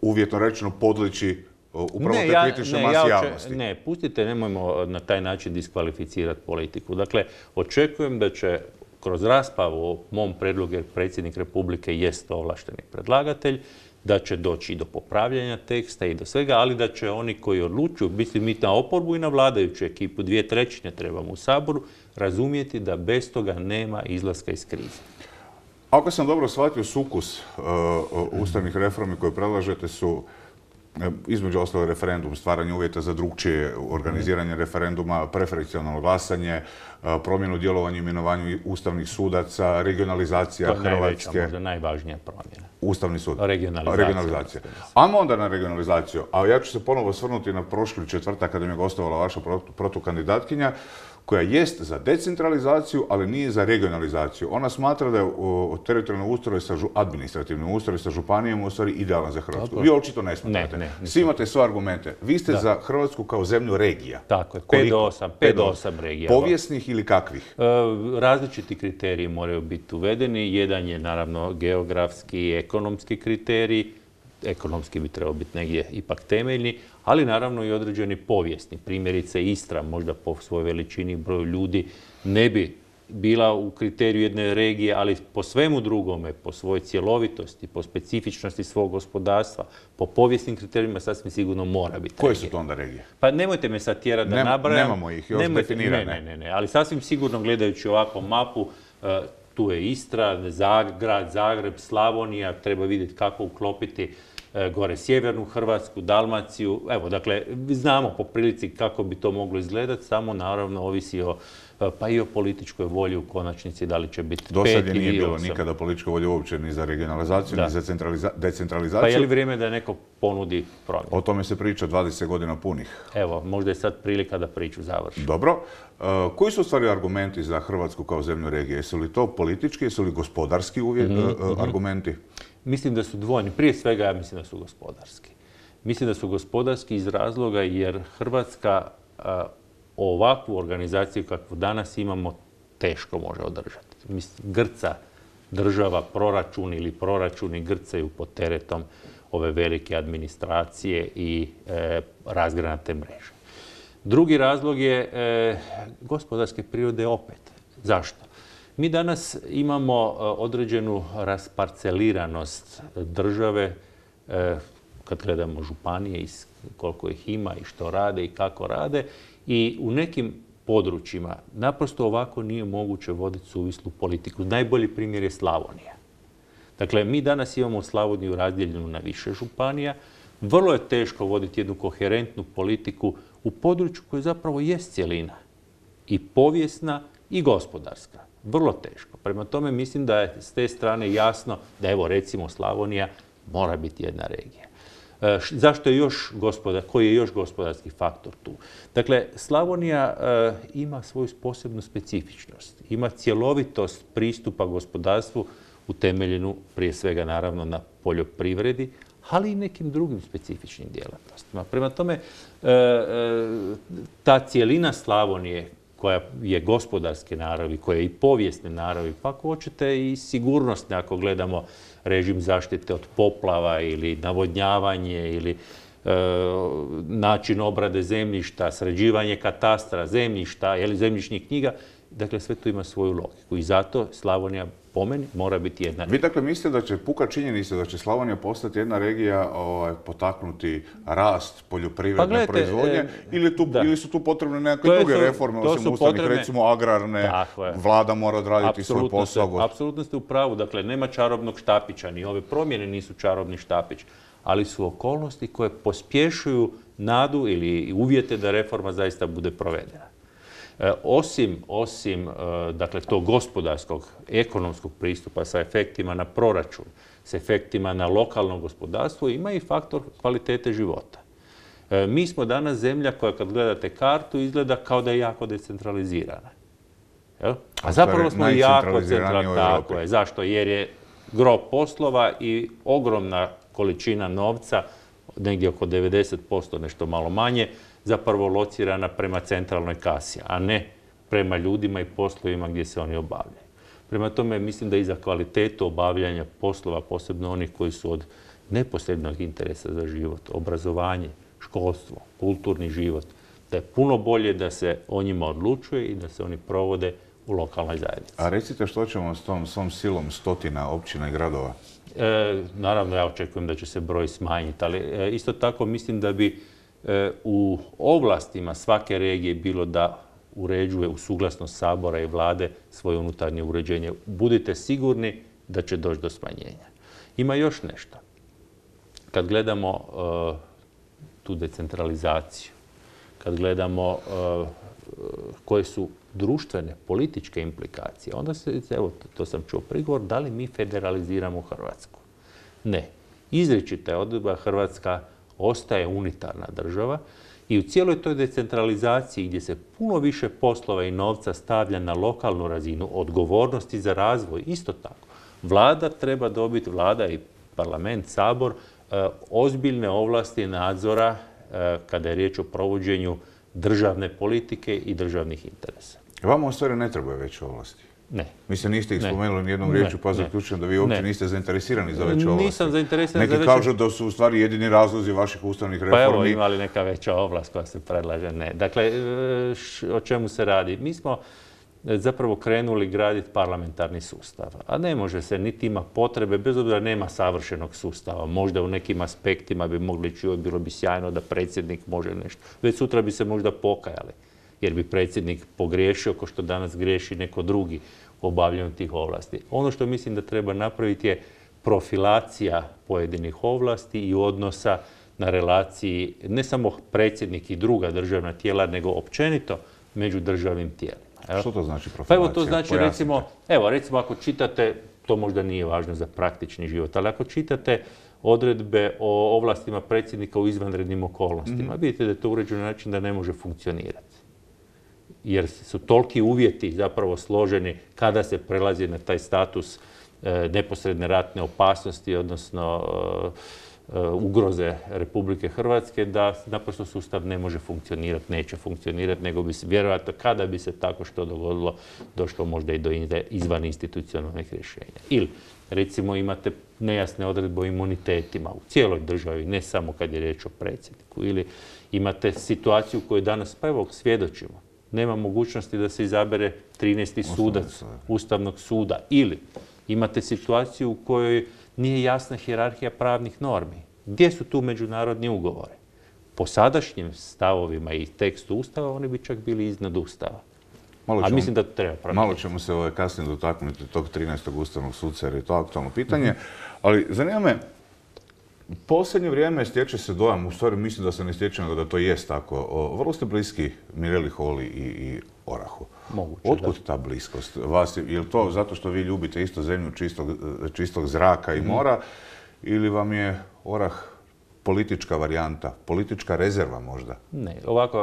uvjetno rečeno podliči upravo te kritične masi javnosti? Ne, pustite, nemojmo na taj način diskvalificirati politiku. Dakle, očekujem da će kroz raspravu o mom predlogu, jer predsjednik Republike jest ovlašteni predlagatelj, da će doći i do popravljanja teksta i do svega, ali da će oni koji odlučuju, mislim mi na oporbu i na vladajuću ekipu, 2/3 trebamo u Saboru, razumjeti da bez toga nema izlaska iz krize. Ako sam dobro shvatio, sukus ustavnih reformi koje predlažete su između ostalog referendum, stvaranje uvjeta za drukčije organiziranje referenduma, preferencijalno glasanje, promjenu djelovanja i imenovanju ustavnih sudaca, regionalizacija Hrvatske. To je najveća, možda najvažnija promjena. Ustavni sud. Regionalizacija. Ajmo onda na regionalizaciju. A ja ću se ponovo osvrnuti na prošli četvrtak kada mi je gostovala vaša protukandidatkinja, koja jest za decentralizaciju, ali nije za regionalizaciju. Ona smatra da je teritorijalni ustroj, administrativni ustroj sa županijama u stvari idealan za Hrvatsku. Vi očito ne smatrate. Ne. Svi imate svoje argumente. Vi ste za Hrvatsku kao zemlju regija. Tako je, 5 do 8 regija. Povijesnih ili kakvih? Različiti kriteriji moraju biti uvedeni. Jedan je naravno geografski i ekonomski kriterij. Ekonomski bi trebao biti negdje ipak temeljni, ali naravno i određeni povijesni. Primjerice Istra, možda po svojoj veličini broju ljudi, ne bi bila u kriteriju jedne regije, ali po svemu drugome, po svojoj cjelovitosti, po specifičnosti svog gospodarstva, po povijesnim kriterijima sasvim sigurno mora biti Koje regije. su to onda regije? Pa nemojte me sad tjerati da nabrajam. Nemamo ih još definirane. Ne, ali sasvim sigurno gledajući ovako mapu, tu je Istra, grad Zagreb, Slavonija, treba vidjeti kako uklopiti gore sjevernu Hrvatsku, Dalmaciju. Evo, dakle, znamo po prilici kako bi to moglo izgledati, samo naravno ovisi pa i o političkoj volji u konačnici, da li će biti 5 ili 8. Do sad nije bilo nikada političke volje uopće ni za regionalizaciju, ni za decentralizaciju. Pa je li vrijeme da neko ponudi promjenu? O tome se priča 20 godina punih. Evo, možda je sad prilika da priču završi. Dobro. Koji su u stvari argumenti za Hrvatsku kao zemlju regije? Jesu li to politički, jesu li gospodarski argumenti? Mislim da su dvojni. Prije svega ja mislim da su gospodarski. Mislim da su gospodarski iz razloga jer Hrvatska ovakvu organizaciju kakvu danas imamo teško može održati. Grca država, proračun ili proračuni grcaju pod teretom ove velike administracije i razgranate mreže. Drugi razlog je gospodarske prirode opet. Zašto? Mi danas imamo određenu rasparceliranost države kad gledamo županije, koliko ih ima i što rade i kako rade. I u nekim područjima naprosto ovako nije moguće voditi suvislu politiku. Najbolji primjer je Slavonija. Dakle, mi danas imamo Slavoniju razdijeljenu na više županija. Vrlo je teško voditi jednu koherentnu politiku u području koje zapravo jest cjelina. I povijesna i gospodarska. Vrlo teško. Prema tome mislim da je s te strane jasno da evo recimo Slavonija mora biti jedna regija. Zašto je koji je još gospodarski faktor tu? Dakle, Slavonija ima svoju posebnu specifičnost. Ima cjelovitost pristupa gospodarstvu utemeljenu prije svega naravno na poljoprivredi, ali i nekim drugim specifičnim djelatnostima. Prema tome, ta cjelina Slavonije koja je gospodarske naravi, koja je i povijesne naravi, pa ako hoćete i sigurnosne, ako gledamo režim zaštite od poplava ili navodnjavanje ili način obrade zemljišta, sređivanje katastra, zemljišta ili zemljišnih knjiga, dakle sve to ima svoju logiku i zato Slavonija po meni mora biti jedna regija. Vi dakle mislite da će puka činjenica da će Slavonija postati jedna regija potaknuti rast poljoprivredne proizvodnje ili su tu potrebne nekakve druge reforme, osim ustavnih, recimo agrarne, vlada mora odraditi svoj posao? Apsolutno ste u pravu, dakle nema čarobnog štapića, ni ove promjene nisu čarobni štapić, ali su okolnosti koje pospješuju nadu ili uvjete da reforma zaista bude provedena. Osim dakle, tog gospodarskog, ekonomskog pristupa sa efektima na proračun, s efektima na lokalno gospodarstvo, ima i faktor kvalitete života. Mi smo danas zemlja koja, kad gledate kartu, izgleda kao da je jako decentralizirana. A zapravo smo jako centralizirani. Zašto? Jer je gro poslova i ogromna količina novca, negdje oko 90%, nešto malo manje, zapravo locirana prema centralnoj kasi, a ne prema ljudima i poslovima gdje se oni obavljaju. Prema tome, mislim da i za kvalitetu obavljanja poslova, posebno onih koji su od neposrednog interesa za život, obrazovanje, školstvo, kulturni život, da je puno bolje da se o njima odlučuje i da se oni provode u lokalnoj zajednici. A recite što ćemo s tom svom silom stotina općina i gradova? Naravno, ja očekujem da će se broj smanjiti, ali isto tako mislim da bi u ovlastima svake regije bilo da uređuje u suglasnost Sabora i Vlade svoje unutarnje uređenje. Budite sigurni da će doći do smanjenja. Ima još nešto. Kad gledamo tu decentralizaciju, kad gledamo koje su društvene, političke implikacije, onda se, evo, to sam čuo prigovor, da li mi federaliziramo Hrvatsku? Ne. Izričita je odredba, Hrvatska ostaje unitarna država i u cijeloj toj decentralizaciji gdje se puno više poslova i novca stavlja na lokalnu razinu, odgovornosti za razvoj, isto tako. Vlada treba dobiti, vlada i parlament, Sabor, ozbiljne ovlasti nadzora kada je riječ o provođenju državne politike i državnih interesa. Vama u stvari ne trebaju veće ovlasti? Ne. Mislim, niste ih spomenuli nijednom riječju, pa zaključujem da vi uopće niste zainteresirani za veće ovlasti. Nisam zainteresiran za veće... Neki kažu da su u stvari jedini razlozi vaših ustavnih reformi. Pa evo, ima li neka veća ovlast koja se predlaže? Ne. Dakle, o čemu se radi? Mi smo zapravo krenuli graditi parlamentarni sustav. A ne može se, niti ima potrebe, bez obzira nema savršenog sustava. Možda u nekim aspektima bi mogli čuti, bilo bi sjajno da predsjednik može nešto. Već sutra bi se možda pokajali, jer bi predsjednik pogriješio kao što danas griješi neko drugi u obavljanju tih ovlasti. Ono što mislim da treba napraviti je profilacija pojedinih ovlasti i odnosa na relaciji ne samo predsjednik i druga državna tijela, nego općenito među državnim tijelima. Što to znači profilacija? Pa evo to znači recimo ako čitate, to možda nije važno za praktični život, ali ako čitate odredbe o ovlastima predsjednika u izvanrednim okolnostima, vidite da je to uređeno na način da ne može funkcionirati. Jer su toliki uvjeti zapravo složeni kada se prelazi na taj status neposredne ratne opasnosti, odnosno ugroze Republike Hrvatske, da naprosto sustav ne može funkcionirati, neće funkcionirati, nego bi se vjerojatno, kada bi se tako što dogodilo, došlo možda i do izvaninstitucionalnih rješenja. Ili, recimo, imate nejasne odredbe o imunitetima u cijeloj državi, ne samo kad je riječ o predsjedniku. Ili imate situaciju koju danas, pa evo, svjedočimo. Nema mogućnosti da se izabere 13. sudac Ustavnog suda. Ili imate situaciju u kojoj nije jasna hijerarhija pravnih normi. Gdje su tu međunarodni ugovori? Po sadašnjim stavovima i tekstu Ustava oni bi čak bili iznad Ustava. A mislim da to treba promijeniti. Malo ćemo se kasnije dotaknuti tog 13. Ustavnog suca jer je to aktualno pitanje. Ali zanima me, u posljednje vrijeme stječe se dojam, u stvari mislim da se ne stječe, nego da to jest tako. Vrlo ste bliski Mireli Holy i Orahu. Moguće, otkud ta bliskost? Je li to zato što vi ljubite isto zemlju čistog zraka i mora, ili vam je Orah politička varijanta, politička rezerva možda? Ne, ovako,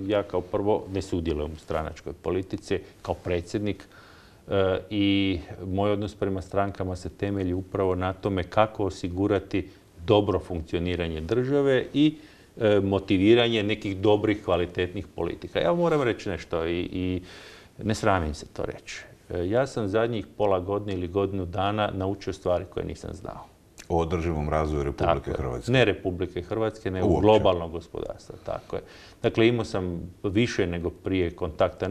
ja kao prvo ne sudjelujem u stranačkoj politici kao predsjednik i moj odnos prema strankama se temelji upravo na tome kako osigurati dobro funkcioniranje države i motiviranje nekih dobrih, kvalitetnih politika. Ja moram reći nešto i ne sramim se to reći. Ja sam zadnjih pola godine ili godinu dana naučio stvari koje nisam znao. O održivom razvoju Republike Hrvatske? Ne Republike Hrvatske, nego globalnog gospodarstva. Tako je. Dakle, imao sam više nego prije kontakta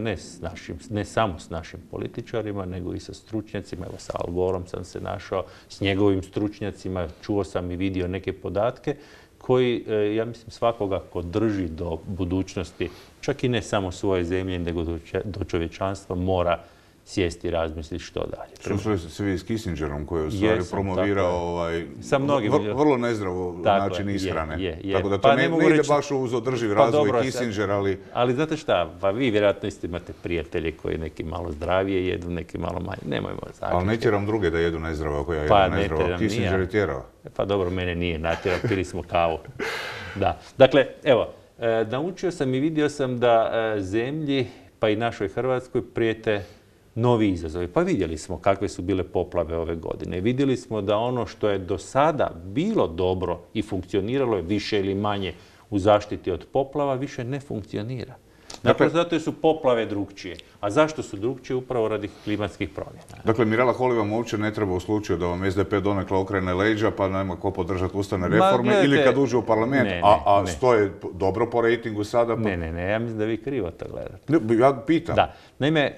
ne samo s našim političarima, nego i sa stručnjacima. Evo, sa Al Goreom sam se našao, s njegovim stručnjacima, čuo sam i vidio neke podatke koji, ja mislim, svakoga ko drži do budućnosti, čak i ne samo svoje zemlje, nego do čovječanstva, mora sjesti i razmisliti što dalje. Što se vi s Kissingerom koji je u stvari promovirao vrlo nezdravo način ishrane. Tako da to ne ide baš uz održiv razvoj Kissinger, ali... Ali znate šta, pa vi vjerojatno isto imate prijatelje koji neki malo zdravije jedu, neki malo manje. Nemojmo zaključiti. Ali ne tjeram druge da jedu nezdravo ako ja jedem nezdravo. Kissinger je tjerao. Pa dobro, mene nije natjerao, pili smo kavu. Da. Dakle, evo, naučio sam i vidio sam da zemlji, pa i našoj Hrvatskoj, prijete novi izazovi. Pa vidjeli smo kakve su bile poplave ove godine. Vidjeli smo da ono što je do sada bilo dobro i funkcioniralo je više ili manje u zaštiti od poplava, više ne funkcionira. Dakle, zato su poplave drukčije. A zašto su drukčije? Upravo radi klimatskih promjena. Dakle, Mirela Holy vam uopće ne treba u slučaju da vam SDP donekle okrene leđa pa nema ko podržati ustavne reforme ili kad uđe u parlament, a stoje dobro po rejtingu sada. Ne, ja mislim da vi krivo to gledate. Ja pitam. Da. Naime,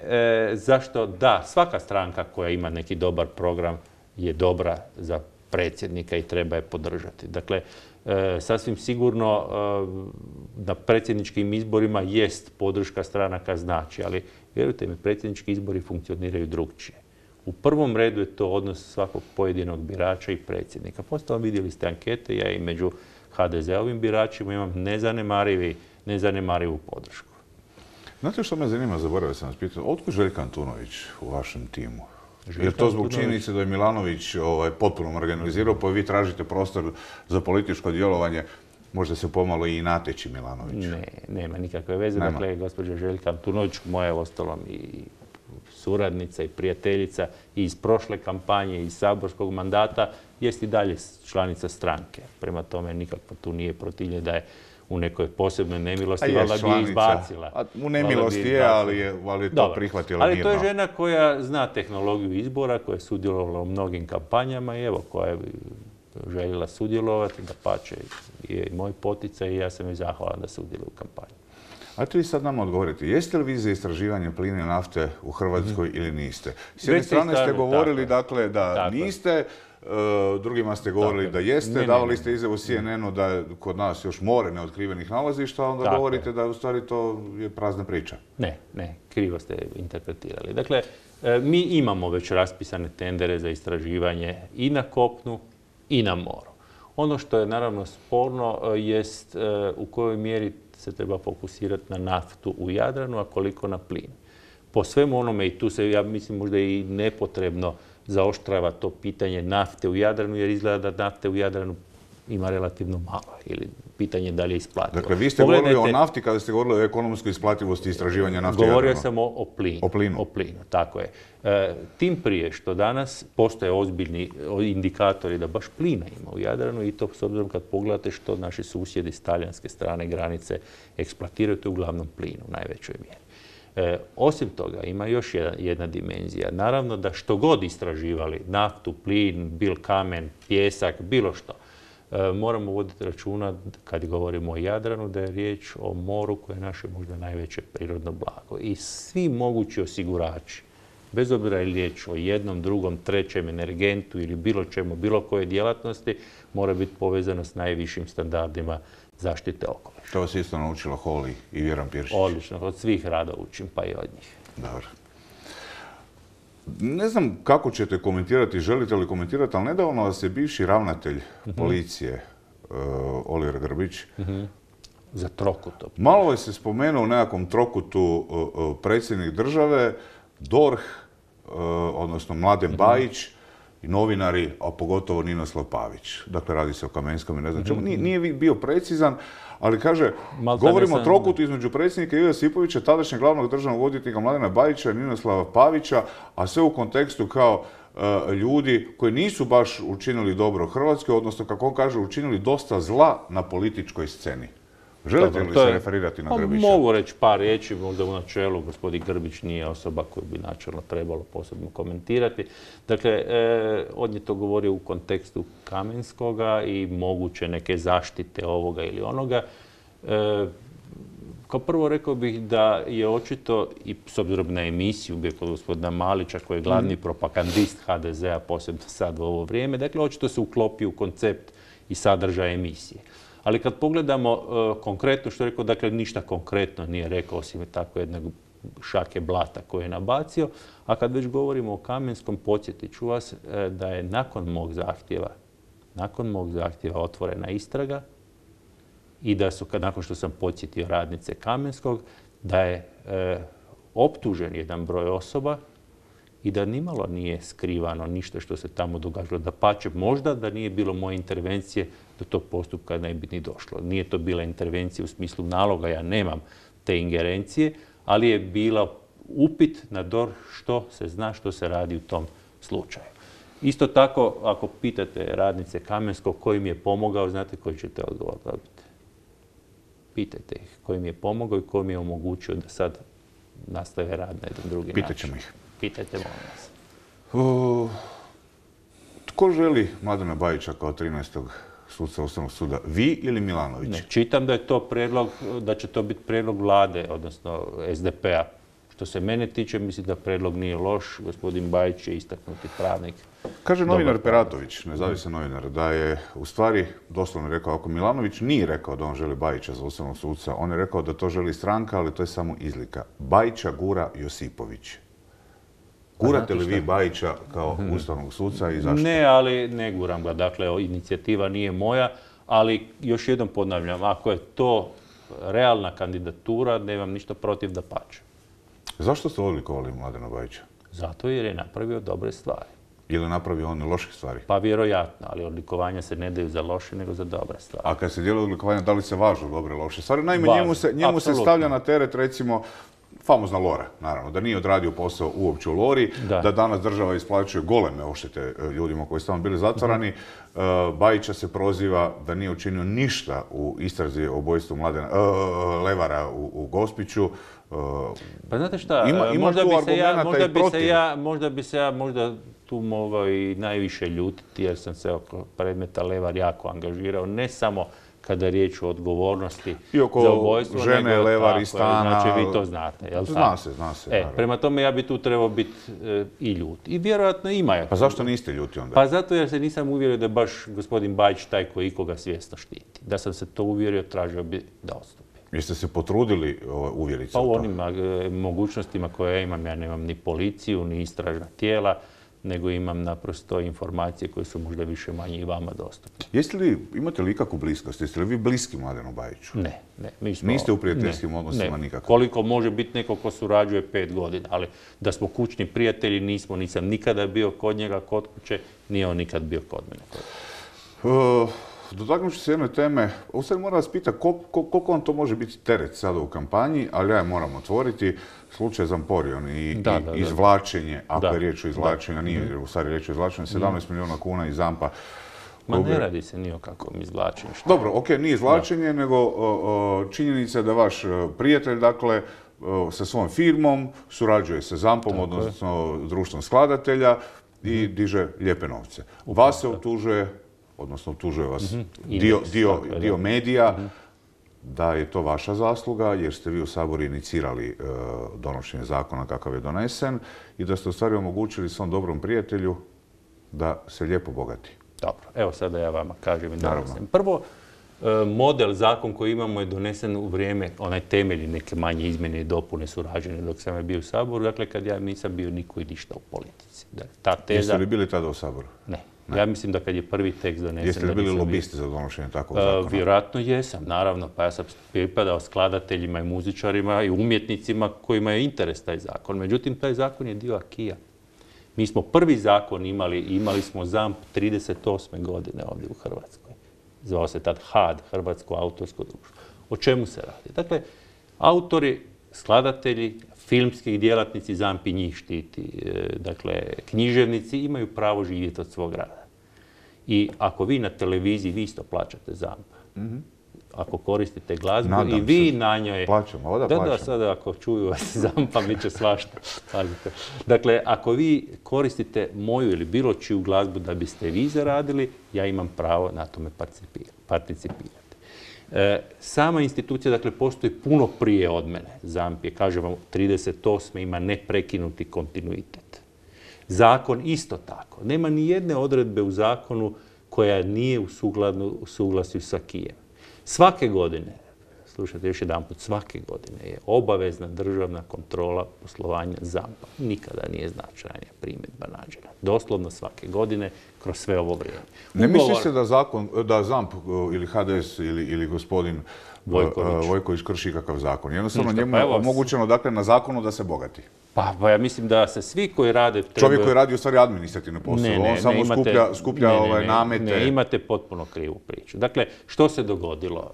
zašto da, svaka stranka koja ima neki dobar program je dobra za predsjednika i treba je podržati. Dakle, sasvim sigurno na predsjedničkim izborima jest podrška stranaka znači, ali vjerujte mi, predsjednički izbori funkcioniraju drukčije. U prvom redu je to odnos svakog pojedinog birača i predsjednika. Postalo vidjeli ste ankete, ja i među HDZ-ovim biračima imam nezanemarivu podršku. Znate što me zanima, zaboravio sam vas pitati, otkud Željko Antunović u vašem timu? Je to zbog činjenice da je Milanović potpuno marginalizirao, pa vi tražite prostor za političko djelovanje, možda se pomalo i nateći Milanović? Ne, nema nikakve veze. Dakle, gospođa Željka Antunović, moja je ostalom i suradnica i prijateljica i iz prošle kampanje, iz saborskog mandata, jest i dalje članica stranke. Prema tome, nikako tu nije protivljenje da je u nekoj posebnoj nemilosti, valjda bi je izbacila. U nemilosti je, ali je to prihvatila mirno. Ali to je žena koja zna tehnologiju izbora, koja je sudjelovala u mnogim kampanjama i evo, koja je željela sudjelovati, dapače je i moj poticaj i ja sam joj zahvalan da sudjeluje u kampanji. Ajte vi sad nam odgovorite, jeste li vi za istraživanje plina i nafte u Hrvatskoj ili niste? S jedne strane ste govorili dakle da niste, drugima ste govorili da jeste, davali ste izjavu CNN-u da je kod nas još more neotkrivenih nalazišta, a onda govorite da u stvari to je prazna priča. Ne, krivo ste interpretirali. Dakle, mi imamo već raspisane tendere za istraživanje i na kopnu i na moru. Ono što je naravno sporno jest u kojoj mjeri se treba fokusirati na naftu u Jadranu, a koliko na plin. Po svemu onome, i tu se, ja mislim, možda i nepotrebno zaoštrava to pitanje nafte u Jadranu, jer izgleda da nafte u Jadranu ima relativno malo, ili pitanje da li je isplativo. Dakle, vi ste govorili o nafti kada ste govorili o ekonomskoj isplativosti istraživanja nafte u Jadranu. Govorio sam o plinu. O plinu, tako je. Tim prije što danas postoje ozbiljni indikatori da baš plina ima u Jadranu i to s obzirom kad pogledate što naši susjedi s talijanske strane granice eksploatiraju, to je uglavnom plin u najvećoj mjeri. Osim toga, ima još jedna dimenzija. Naravno da što god istraživali, naftu, plin, bil kamen, pjesak, bilo što, moramo voditi računa, kad govorimo o Jadranu, da je riječ o moru koje je naše možda najveće prirodno blago. I svi mogući osigurači, bez obzira je riječ o jednom, drugom, trećem energentu ili bilo čemu, bilo koje djelatnosti, mora biti povezano s najvišim standardima zaštite okoliša. To vas isto naučila Holy i Vjeran Piršić. Odlično, od svih rada učim, pa i od njih. Dobro. Ne znam kako ćete komentirati, želite li komentirati, ali nedavno vas je bivši ravnatelj policije, Oliver Grbić, za trokutom. Malo je se spomenuo u nekakvom trokutu predsjednik države, DORH, odnosno Mladen Bajić, i novinari, a pogotovo Ninoslav Pavić. Dakle, radi se o Kamenskom i ne znam čemu. Nije bio precizan, ali kaže, govorimo o trokutu između predsjednika Ive Josipovića, tadašnjeg glavnog državnog odvjetnika Mladena Bajića i Ninoslava Pavića, a sve u kontekstu kao ljudi koji nisu baš učinili dobro Hrvatskoj, odnosno, kako on kaže, učinili dosta zla na političkoj sceni. Želite li se referirati na Grbića? Mogu reći par riječi, možda u načelu gospodin Grbić nije osoba koju bi načelno trebalo posebno komentirati. Dakle, on je to govorio u kontekstu Kamenskoga i moguće neke zaštite ovoga ili onoga. Kao prvo rekao bih da je očito, i s obzirom na emisiju bio kod gospodina Malića, koji je glavni propagandist HDZ-a, posebno sad u ovo vrijeme, dakle, očito se uklopio u koncept i sadržaj emisije. Ali kad pogledamo konkretno što je rekao, dakle ništa konkretno nije rekao, osim tako jednog šake blata koje je nabacio. A kad već govorimo o Kamenskom, podsjetit ću vas da je nakon mog zahtjeva otvorena istraga i da su, nakon što sam podsjetio radnice Kamenskog, da je optužen jedan broj osoba i da nimalo nije skrivano ništa što se tamo događalo. Dapače, možda da nije bilo moje intervencije, do tog postupka ne bi ni došlo. Nije to bila intervencija u smislu naloga, ja nemam te ingerencije, ali je bila upit na DORH što se zna, što se radi u tom slučaju. Isto tako, ako pitate radnice Kamenskog koji mi je pomogao, znate koji ćete odgovor dobiti? Pitajte ih koji mi je pomogao i koji mi je omogućio da sad nastave rad na jedan drugi način. Pitaćemo ih. Pitajte, molim vas. Tko želi Mladena Bajića kao 13. suca Ustavnog suda? Vi ili Milanović? Ne, čitam da je to prijedlog, da će to biti prijedlog vlade, odnosno SDP-a. Što se mene tiče, mislim da prijedlog nije loš. Gospodin Bajić je istaknuti pravnik. Kaže novinar Peratović, nezavisan novinar, da je u stvari doslovno rekao, ako Milanović nije rekao da on želi Bajića za ustavnog suca, on je rekao da to želi stranka, ali to je samo izlika. Bajića gura Josipović. Gurate li vi Bajića kao ustavnog suca i zašto? Ne, ali ne guram ga. Dakle, inicijativa nije moja, ali još jednom ponavljam, ako je to realna kandidatura, nemam ništa protiv, dapače. Zašto ste odlikovali Mladena Bajića? Zato jer je napravio dobre stvari. Ili napravio on loših stvari? Pa vjerojatno, ali odlikovanja se ne daju za loše, nego za dobre stvari. A kad se dijeli odlikovanja, da li se važu dobre loše stvari? Naime, njemu se stavlja na teret, recimo, famozna Lora, naravno, da nije odradio posao uopće u Lori, da danas država isplaćuje goleme odštete ljudima koji su tamo bili zatvarani. Bajića se proziva da nije učinio ništa u istrazi o ubojstvu Levara u Gospiću. Pa znate šta, možda bi se ja tu mogao i najviše ljutiti jer sam se oko predmeta Levar jako angažirao, ne samo kada je riječ o odgovornosti za ubojstvo. I oko žene, Levar i stana. Znači, vi to znate, jel' Zna se. Prema tome, ja bi tu trebao biti i ljut. I vjerojatno ima. Pa zašto niste ljuti onda? Pa zato jer se nisam uvjerio da je baš gospodin Bajić taj koji ikoga svjesno štiti. Da sam se to uvjerio, tražio bi da odstupi. Jeste se potrudili uvjeriti se u to? Pa u onim mogućnostima koje ja imam. Ja nemam ni policiju, ni istražna tijela, nego imam naprosto informacije koje su možda više manje i vama dostupne. Imate li ikakvu bliskost? Jeste li vi bliski Mladenu Bajiću? Ne. Niste u prijateljskim odnosima nikako? Koliko može biti neko ko surađuje 5 godina, ali da smo kućni prijatelji nismo. Nisam nikada bio kod njega, kod kuće, nije on nikad bio kod mene. Dotaknut ću se jedne teme. Ovo sad moram vas pitati koliko vam to može biti teret sada u kampanji, ali ja je moram otvoriti. Slučaj Zamporion i izvlačenje, ako je riječ o izvlačenju, nije u stvari riječ o izvlačenju, 17 milijuna kuna iz Zampa. Ma ne radi se ni o kakvom izvlačenju. Dobro, okej, nije izvlačenje, nego činjenica je da vaš prijatelj, dakle, sa svojom firmom surađuje sa Zampom, odnosno društvom skladatelja i diže lijepe novce. Vas se optužuje, odnosno optužuje vas dio medija, da je to vaša zasluga jer ste vi u Saboru inicirali donošenje zakona kakav je donesen i da ste u stvari omogućili svom dobrom prijatelju da se lijepo bogati. Dobro, evo sada ja vama kažem i donesem. Prvo, model, zakon koji imamo je donesen u vrijeme, onaj temelji neke manje izmjene i dopune su rađene dok sam je bio u Saboru, dakle kad ja nisam bio niko i ništa u politici. Jeste li bili tada u Saboru? Ne. Ja mislim da kad je prvi tekst donesen... Jeste li bili lobisti za donošenje takvog zakona? Vjerojatno jesam, naravno. Pa ja sam pripadao skladateljima i muzičarima i umjetnicima kojima je interes taj zakon. Međutim, taj zakon je dio akija. Mi smo prvi zakon imali smo ZAMP 38. godine ovdje u Hrvatskoj. Zvao se tad HAD, Hrvatsko autorsko društvo. O čemu se radi? Dakle, autori, skladatelji, filmski djelatnici, ZAMP i njih štiti. Dakle, književnici imaju pravo živjeti od svog rada. I ako vi na televiziji, vi isto plaćate ZAMP. Ako koristite glazbu i vi na njoj... Plaćamo, Da, sada ako čuju vas ZAMP-a, mi će svašta. Dakle, ako vi koristite moju ili bilo čiju glazbu da biste vi zaradili, ja imam pravo na tome participirati. Sama institucija, dakle, postoji puno prije od mene. ZAMP je, kažem vam, 38. ima neprekinuti kontinuitet. Zakon isto tako. Nema ni jedne odredbe u zakonu koja nije u suglasju sa akijem. Svake godine slušajte još jedan put, svake godine je obavezna državna kontrola poslovanja ZAMP-a. Nikada nije značajnija primjedba nađena. Doslovno svake godine kroz sve ovo vrijeme. Ne misli se da ZAMP ili HDS ili gospodin Vojković krši kakav zakon? Jednostavno njemu je omogućeno dakle na zakonu da se bogati. Pa ja mislim da se svi koji rade... Čovjek koji radi u stvari administrativne poslove, on samo skuplja namete. Ne, imate potpuno krivu priču. Dakle, što se dogodilo?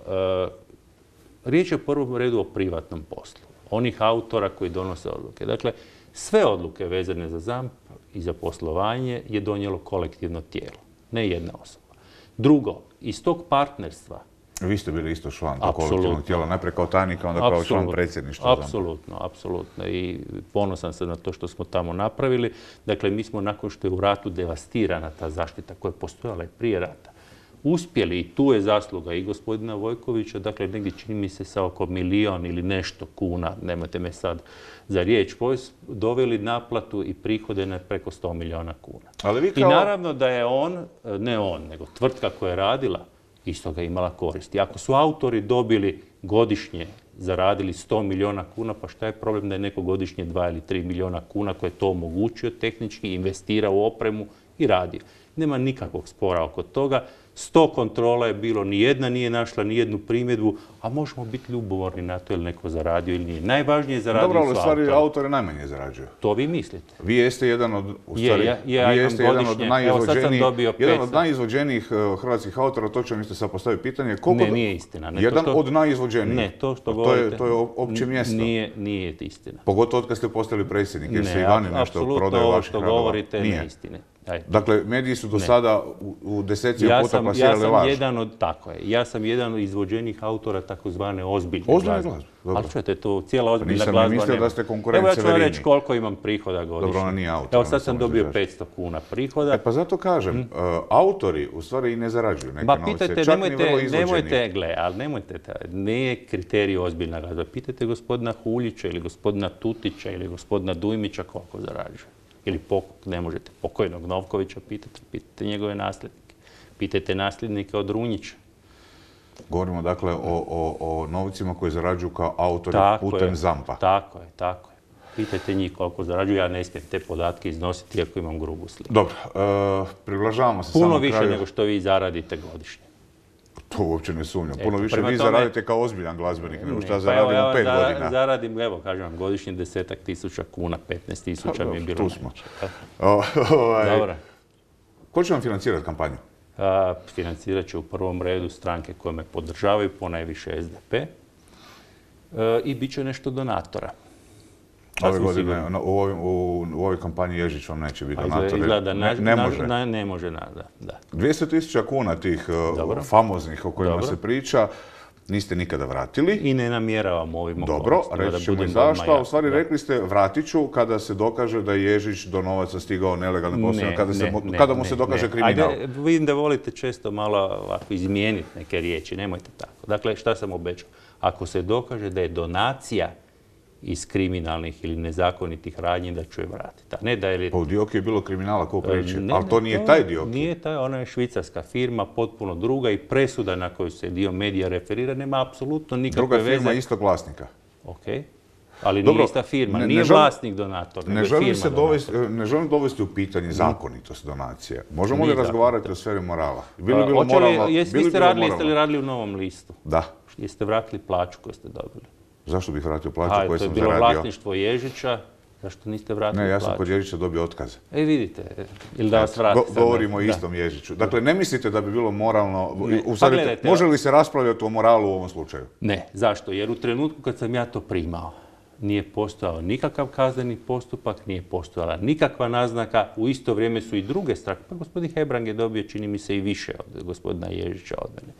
Riječ je u prvom redu o privatnom poslu. Onih autora koji donose odluke. Dakle, sve odluke vezane za ZAMP i za poslovanje je donijelo kolektivno tijelo, ne jedna osoba. Drugo, iz tog partnerstva... Vi ste bili isto član tog kolektivnog tijela, najprije kao tajnika, onda kao član predsjedništva. Apsolutno. I ponosan sam na to što smo tamo napravili. Dakle, mi smo nakon što je u ratu devastirana ta zaštita koja je postojala i prije rata, uspjeli, i tu je zasluga i gospodina Vojkovića, dakle, negdje čini mi se sa oko 1 ili nešto kuna, nemojte me sad za riječ, doveli naplatu i prihode na preko 100 milijuna kuna. I naravno da je ne on, nego tvrtka koja je radila, isto ga imala koristi. Ako su autori dobili godišnje, zaradili 100 milijuna kuna, pa šta je problem da je neko godišnje 2 ili 3 milijuna kuna koje je to omogućio tehnički, investirao u opremu i radio. Nema nikakvog spora oko toga. 100 kontrola je bilo, nijedna nije našla nijednu primjedbu, a možemo biti ljubomorni na to ili neko zaradio ili nije. Najvažnije je zaradio su autori. Dobro, ali u stvari autore najmanje zarađuju. To vi mislite. Vi jeste jedan od, jedan od najizvođenijih hrvatskih autora, točno mi ste sad postavili pitanje. Ne, nije istina. Jedan od najizvođenijih. Ne, to što govorite. To je opće mjesto. Nije istina. Pogotovo od kad ste postali predsjednik, jer se i vani nešto prodaju vaših radova. Apsolutno, ovo što govorite nije istine. Dakle, mediji su do sada u desecima puta plasirali laž. Ja sam jedan od izvođenih autora takozvane ozbiljne glazbe. Ali čujete, to cijela ozbiljna glazba nema. Nisam mislio da ste konkurent Severini. Evo ja ću vam reći koliko imam prihoda godišnje. Dobro, ona nije autor. Evo sad sam dobio 500 kuna prihoda. Pa zato kažem, autori u stvari i ne zarađuju neke novce, čak ni vrlo izvođeni. Ali nemojte, nije kriterij ozbiljna glazba. Pitajte gospodina Huljića ili gospodina Tutića ili gospodina Dujmića koliko zarađuje. Ili ne možete pokojnog Novkovića pitajte njegove nasljednike. Pitajte nasljednike od Runjića. Govorimo dakle o novcima koji zarađuju kao autori putem ZAMP-a. Tako je. Pitajte njih koliko zarađuju, ja ne smijem te podatke iznositi iako imam grubu sliku. Dobro, približavamo se samo kraju. Puno više nego što vi zaradite godišnje. To uopće ne sumnjam. Puno više vi zaradite kao ozbiljan glazbenik nego što zaradim u 5 godina. Zaradim, evo kažem vam, godišnje 10.000 kuna, 15.000 mi je bilo. Tu smo. Dobro. Ko će vam financirati kampanju? Financirat će u prvom redu stranke koje me podržavaju, ponajviše SDP. I bit će nešto donatora. Ove godine u ovoj kampanji Ježić vam neće biti donator. Ne može, da. 200.000 kuna tih famoznih o kojima se priča niste nikada vratili. I ne namjeravam ovim okolnostima. Dobro, reći ćemo i zašto. U stvari rekli ste vratit ću kada se dokaže da je Ježić do novaca stigao nelegalnim poslovima, kada mu se dokaže kriminal. Ajde, vidim da volite često malo ovako izmijeniti neke riječi, nemojte tako. Dakle, šta sam obećao? Ako se dokaže da je donacija iz kriminalnih ili nezakonitih radnji da ću je vratiti. Pa u Dioki je bilo kriminala ko priči, ali to nije taj Dioki. Nije taj, ona je švicarska firma, potpuno druga i presuda na koju se dio medija referira nema apsolutno nikakve veze. Druga firma istog vlasnika. Ok, ali nije ista firma, nije vlasnik donator, nego je firma donator. Ne želim dovesti u pitanje zakonitost donacije. Možemo li razgovarati o sferi morala? Jeste li radili u Novom listu? Da. Jeste vratili plaću koju ste dobili? Zašto bih vratio plaću koju sam zaradio? To je bilo vlasništvo Ježića. Zašto niste vratili plaću? Ne, ja sam kod Ježića dobio otkaz. Vidite. Ili da vas vrati. Govorimo o istom Ježiću. Dakle, ne mislite da bi bilo moralno... Može li se raspravljati o moralu u ovom slučaju? Ne. Zašto? Jer u trenutku kad sam ja to primao, nije postojao nikakav kazneni postupak, nije postojala nikakva naznaka. U isto vrijeme su i druge stranke. Pa gospodin Hebrang je dobio, čini mi se, i više od gospodina Ježića od mene.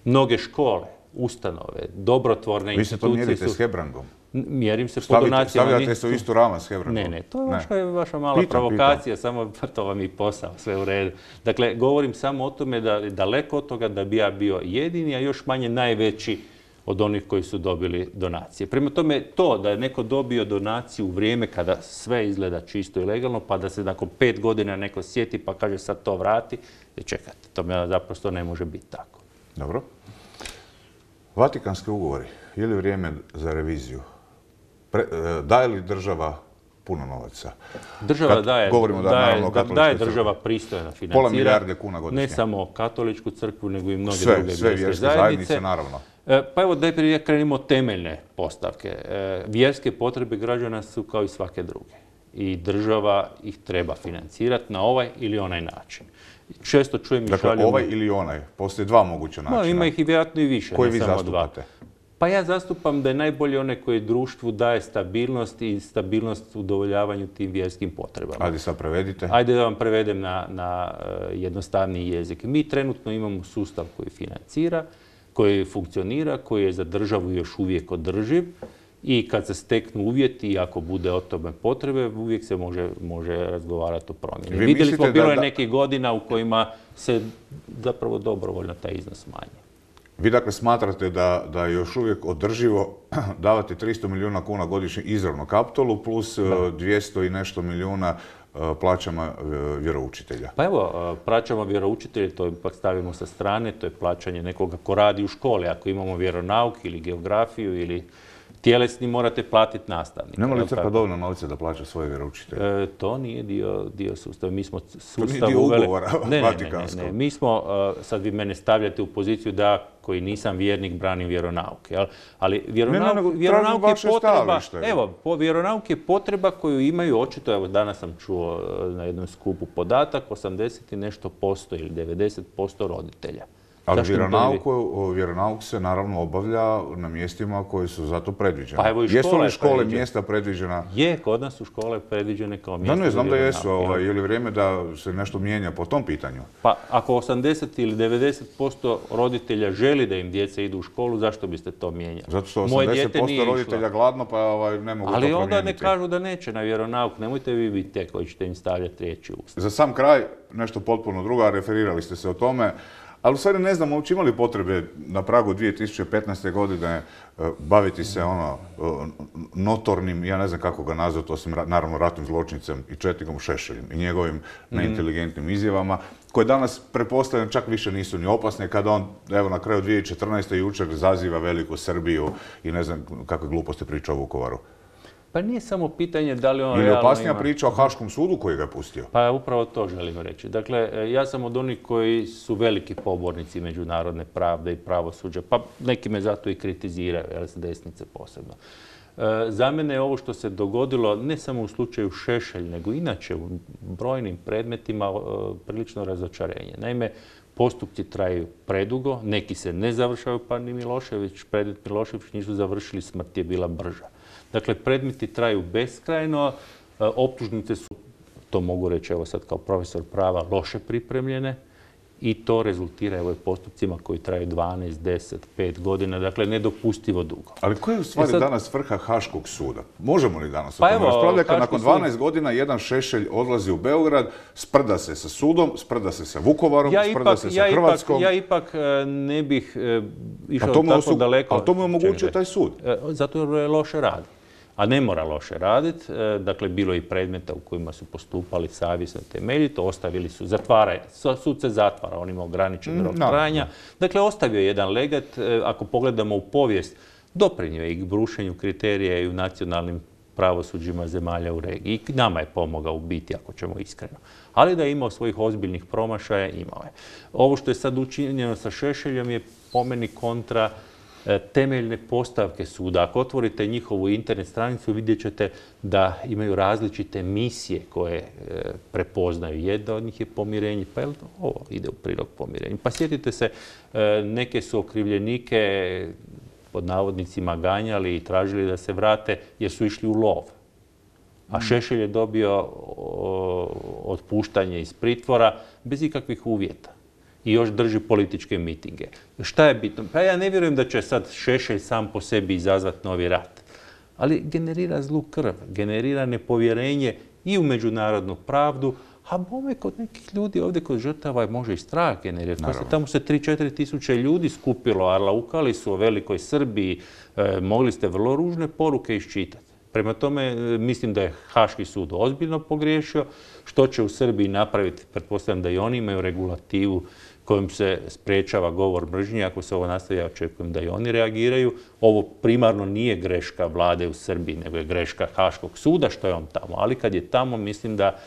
Mnoge škole, ustanove, dobrotvorne institucije su... Vi se to mjerite s Hebrangom? Mjerim se po donacijama. Stavljate se u istu rama s Hebrangom? Ne, to je vaša mala provokacija, samo to vam je posao, sve u redu. Dakle, govorim samo o tome da daleko od toga da bi ja bio jedini, a još manje najveći od onih koji su dobili donacije. Prema tome, to da je neko dobio donaciju u vrijeme kada sve izgleda čisto i legalno, pa da se nakon 5 godina neko sjeti pa kaže sad to vrati, čekajte, to zaprosto ne može biti tako. Dobro. Vatikanski ugovori, je li vrijeme za reviziju? Daje li država puno novaca? Država daje država pristojno financira. Pola milijarde kuna godišnje. Ne samo katoličku crkvu, nego i mnoge druge vjerske zajednice. Naravno. Pa evo, najprije krenimo temeljne postavke. Vjerske potrebe građana su kao i svake druge. I država ih treba financirati na ovaj ili onaj način. Često čujem i šaljem... Dakle, ovaj ili onaj, postoje dva moguća načina. Ima ih i vjerojatno i više, koji vi zastupate? Pa ja zastupam da je najbolje onaj koji društvu daje stabilnost i stabilnost u udovoljavanju tim vjerskim potrebama. Ajde sad prevedite. Ajde da vam prevedem na jednostavniji jezik. Mi trenutno imamo sustav koji financira, koji funkcionira, koji je za državu još uvijek održiv i kad se steknu uvjeti i ako bude o tome potrebe, uvijek se može razgovarati o promjeni. Vidjeli smo, bilo je nekih godina u kojima se zapravo dobrovoljno taj iznos smanji. Vi dakle smatrate da je još uvijek održivo davati 300 milijuna kuna godišnje izravno Kaptolu plus 200 i nešto milijuna plaćama vjeroučitelja? Pa evo, plaćamo vjeroučitelje, to ipak stavimo sa strane, to je plaćanje nekoga ko radi u školi. Ako imamo vjeronauk ili geografiju ili tjelesni, morate platiti nastavnika. Nema li crkva dovoljno novca da plaća svoje vjeroučitelje? To nije dio sustava. Mi smo sustav uveli... To nije dio ugovora vatikanskog. Ne. Mi smo, sad vi mene stavljate u poziciju da koji nisam vjernik branim vjeronauk. Ali vjeronauk je potreba... Evo, vjeronauk je potreba koju imaju očito, evo danas sam čuo na jednom skupu podatak, 80 i nešto posto ili 90% roditelja. Ali vjeronauk se naravno obavlja na mjestima koji su za to predviđene. Pa evo i jesu li škole mjesta predviđena? Je, kod nas su škole predviđene kao mjesta. Da, ne znam da jesu. Je li vrijeme da se nešto mijenja po tom pitanju? Pa ako 80 ili 90% roditelja želi da im djeca idu u školu, zašto biste to mijenjali? Zato što 80% roditelja gladno pa ne mogu to promijeniti. Ali onda ne kažu da neće na vjeronauk. Nemojte vi biti te koji ćete im stavljati riječi u usta. Za sam kraj, nešto potpuno drugo, referirali ste se o tome. Ali u stvari ne znam, uopće imali potrebe na pragu 2015. godine baviti se notornim, ja ne znam kako ga nazvati, osim naravno ratnim zločincem i četnikom Šešeljem i njegovim neinteligentnim izjavama, koje danas pretpostavljam čak više nisu ni opasne kada on, evo na kraju 2014. jučer zaziva veliku Srbiju i ne znam kakve gluposti priča o Vukovaru. Pa nije samo pitanje da li on realno ima... Ili opasnija priča o Haškom sudu koji ga je pustio? Pa upravo to želim reći. Dakle, ja sam od onih koji su veliki pobornici međunarodne pravde i pravosuđa, pa neki me zato i kritiziraju, s desnice posebno. Za mene je ovo što se dogodilo, ne samo u slučaju Šešelj, nego inače u brojnim predmetima prilično razočarenje. Naime, postupci traju predugo, neki se ne završaju, pa ni Milošević, predmet Milošević nisu završili, smrt je bila brža. Dakle, predmeti traju beskrajno, optužnice su, to mogu reći evo sad kao profesor prava, loše pripremljene i to rezultira evo postupcima koji traju 12, 10, 5 godina, dakle nedopustivo dugo. Ali koja je u stvari danas vrha Haškog suda? Možemo li danas o tome raspravljati kad nakon 12 godina jedan Šešelj odlazi u Beograd, sprda se sa sudom, sprda se sa Vukovarom, sprda se sa Hrvatskom? Ja ipak ne bih išao tako daleko. Ali to mu je omogućio taj sud? Zato jer loše radi. A ne mora loše raditi. Dakle, bilo je i predmeta u kojima su postupali savjesno temeljito, ostavili su, sud se zatvara, on ima ograničen rok trajanja. Dakle, ostavio je jedan legat, ako pogledamo u povijest, doprinio je i brušenju kriterija i u nacionalnim pravosuđima zemalja u regiji. I nama je pomogao u biti, ako ćemo iskreno. Ali da je imao svojih ozbiljnih promašaja, imao je. Ovo što je sad učinjeno sa Šešeljom je po meni kontra temeljne postavke suda. Ako otvorite njihovu internet stranicu, vidjet ćete da imaju različite misije koje prepoznaju. Jedna od njih je pomirenje. Pa ovo ide u prilog pomirenju. Pa sjetite se, neke su okrivljenike pod navodnicima ganjali i tražili da se vrate jer su išli u lov. A Šešelj je dobio otpuštanje iz pritvora bez ikakvih uvjeta. I još drži političke mitinge. Šta je bitno? Pa ja ne vjerujem da će sad Šešelj sam po sebi izazvati novi rat. Ali generira zlu krv, generira nepovjerenje i u međunarodnu pravdu, a bome kod nekih ljudi ovdje kod žrtava može i strah generirati. Tamo se 3-4 tisuće ljudi skupilo, arlaukali su o velikoj Srbiji, mogli ste vrlo ružne poruke iščitati. Prema tome, mislim da je Haški sud ozbiljno pogriješio. Što će u Srbiji napraviti? Pretpostavljam da i oni imaju regulativu kojim se sprečava govor mržnje. Ako se ovo nastavi, ja očekujem da i oni reagiraju. Ovo primarno nije greška vlade u Srbiji, nego je greška Haškog suda što je on tamo. Ali kad je tamo, mislim da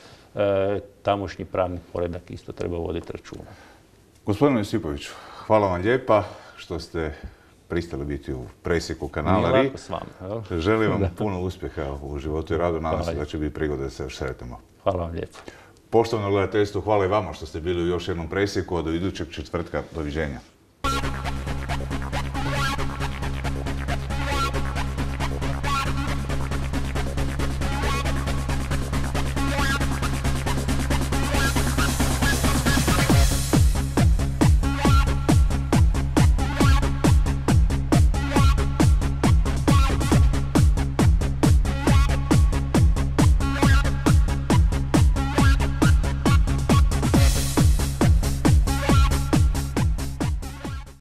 tamošnji pravni poredak isto treba voditi računa. Gospodine Josipoviću, hvala vam lijepa što ste pristali biti u presjeku kanala RI. Nije lako s vama. Želim vam puno uspjeha u životu i radu. Nadam se da će biti prigode da se još sretnemo. Hvala vam lijepo. Poštovano gledateljstvo, hvala i vama što ste bili u još jednom presjeku. Do idućeg četvrtka. Doviđenja.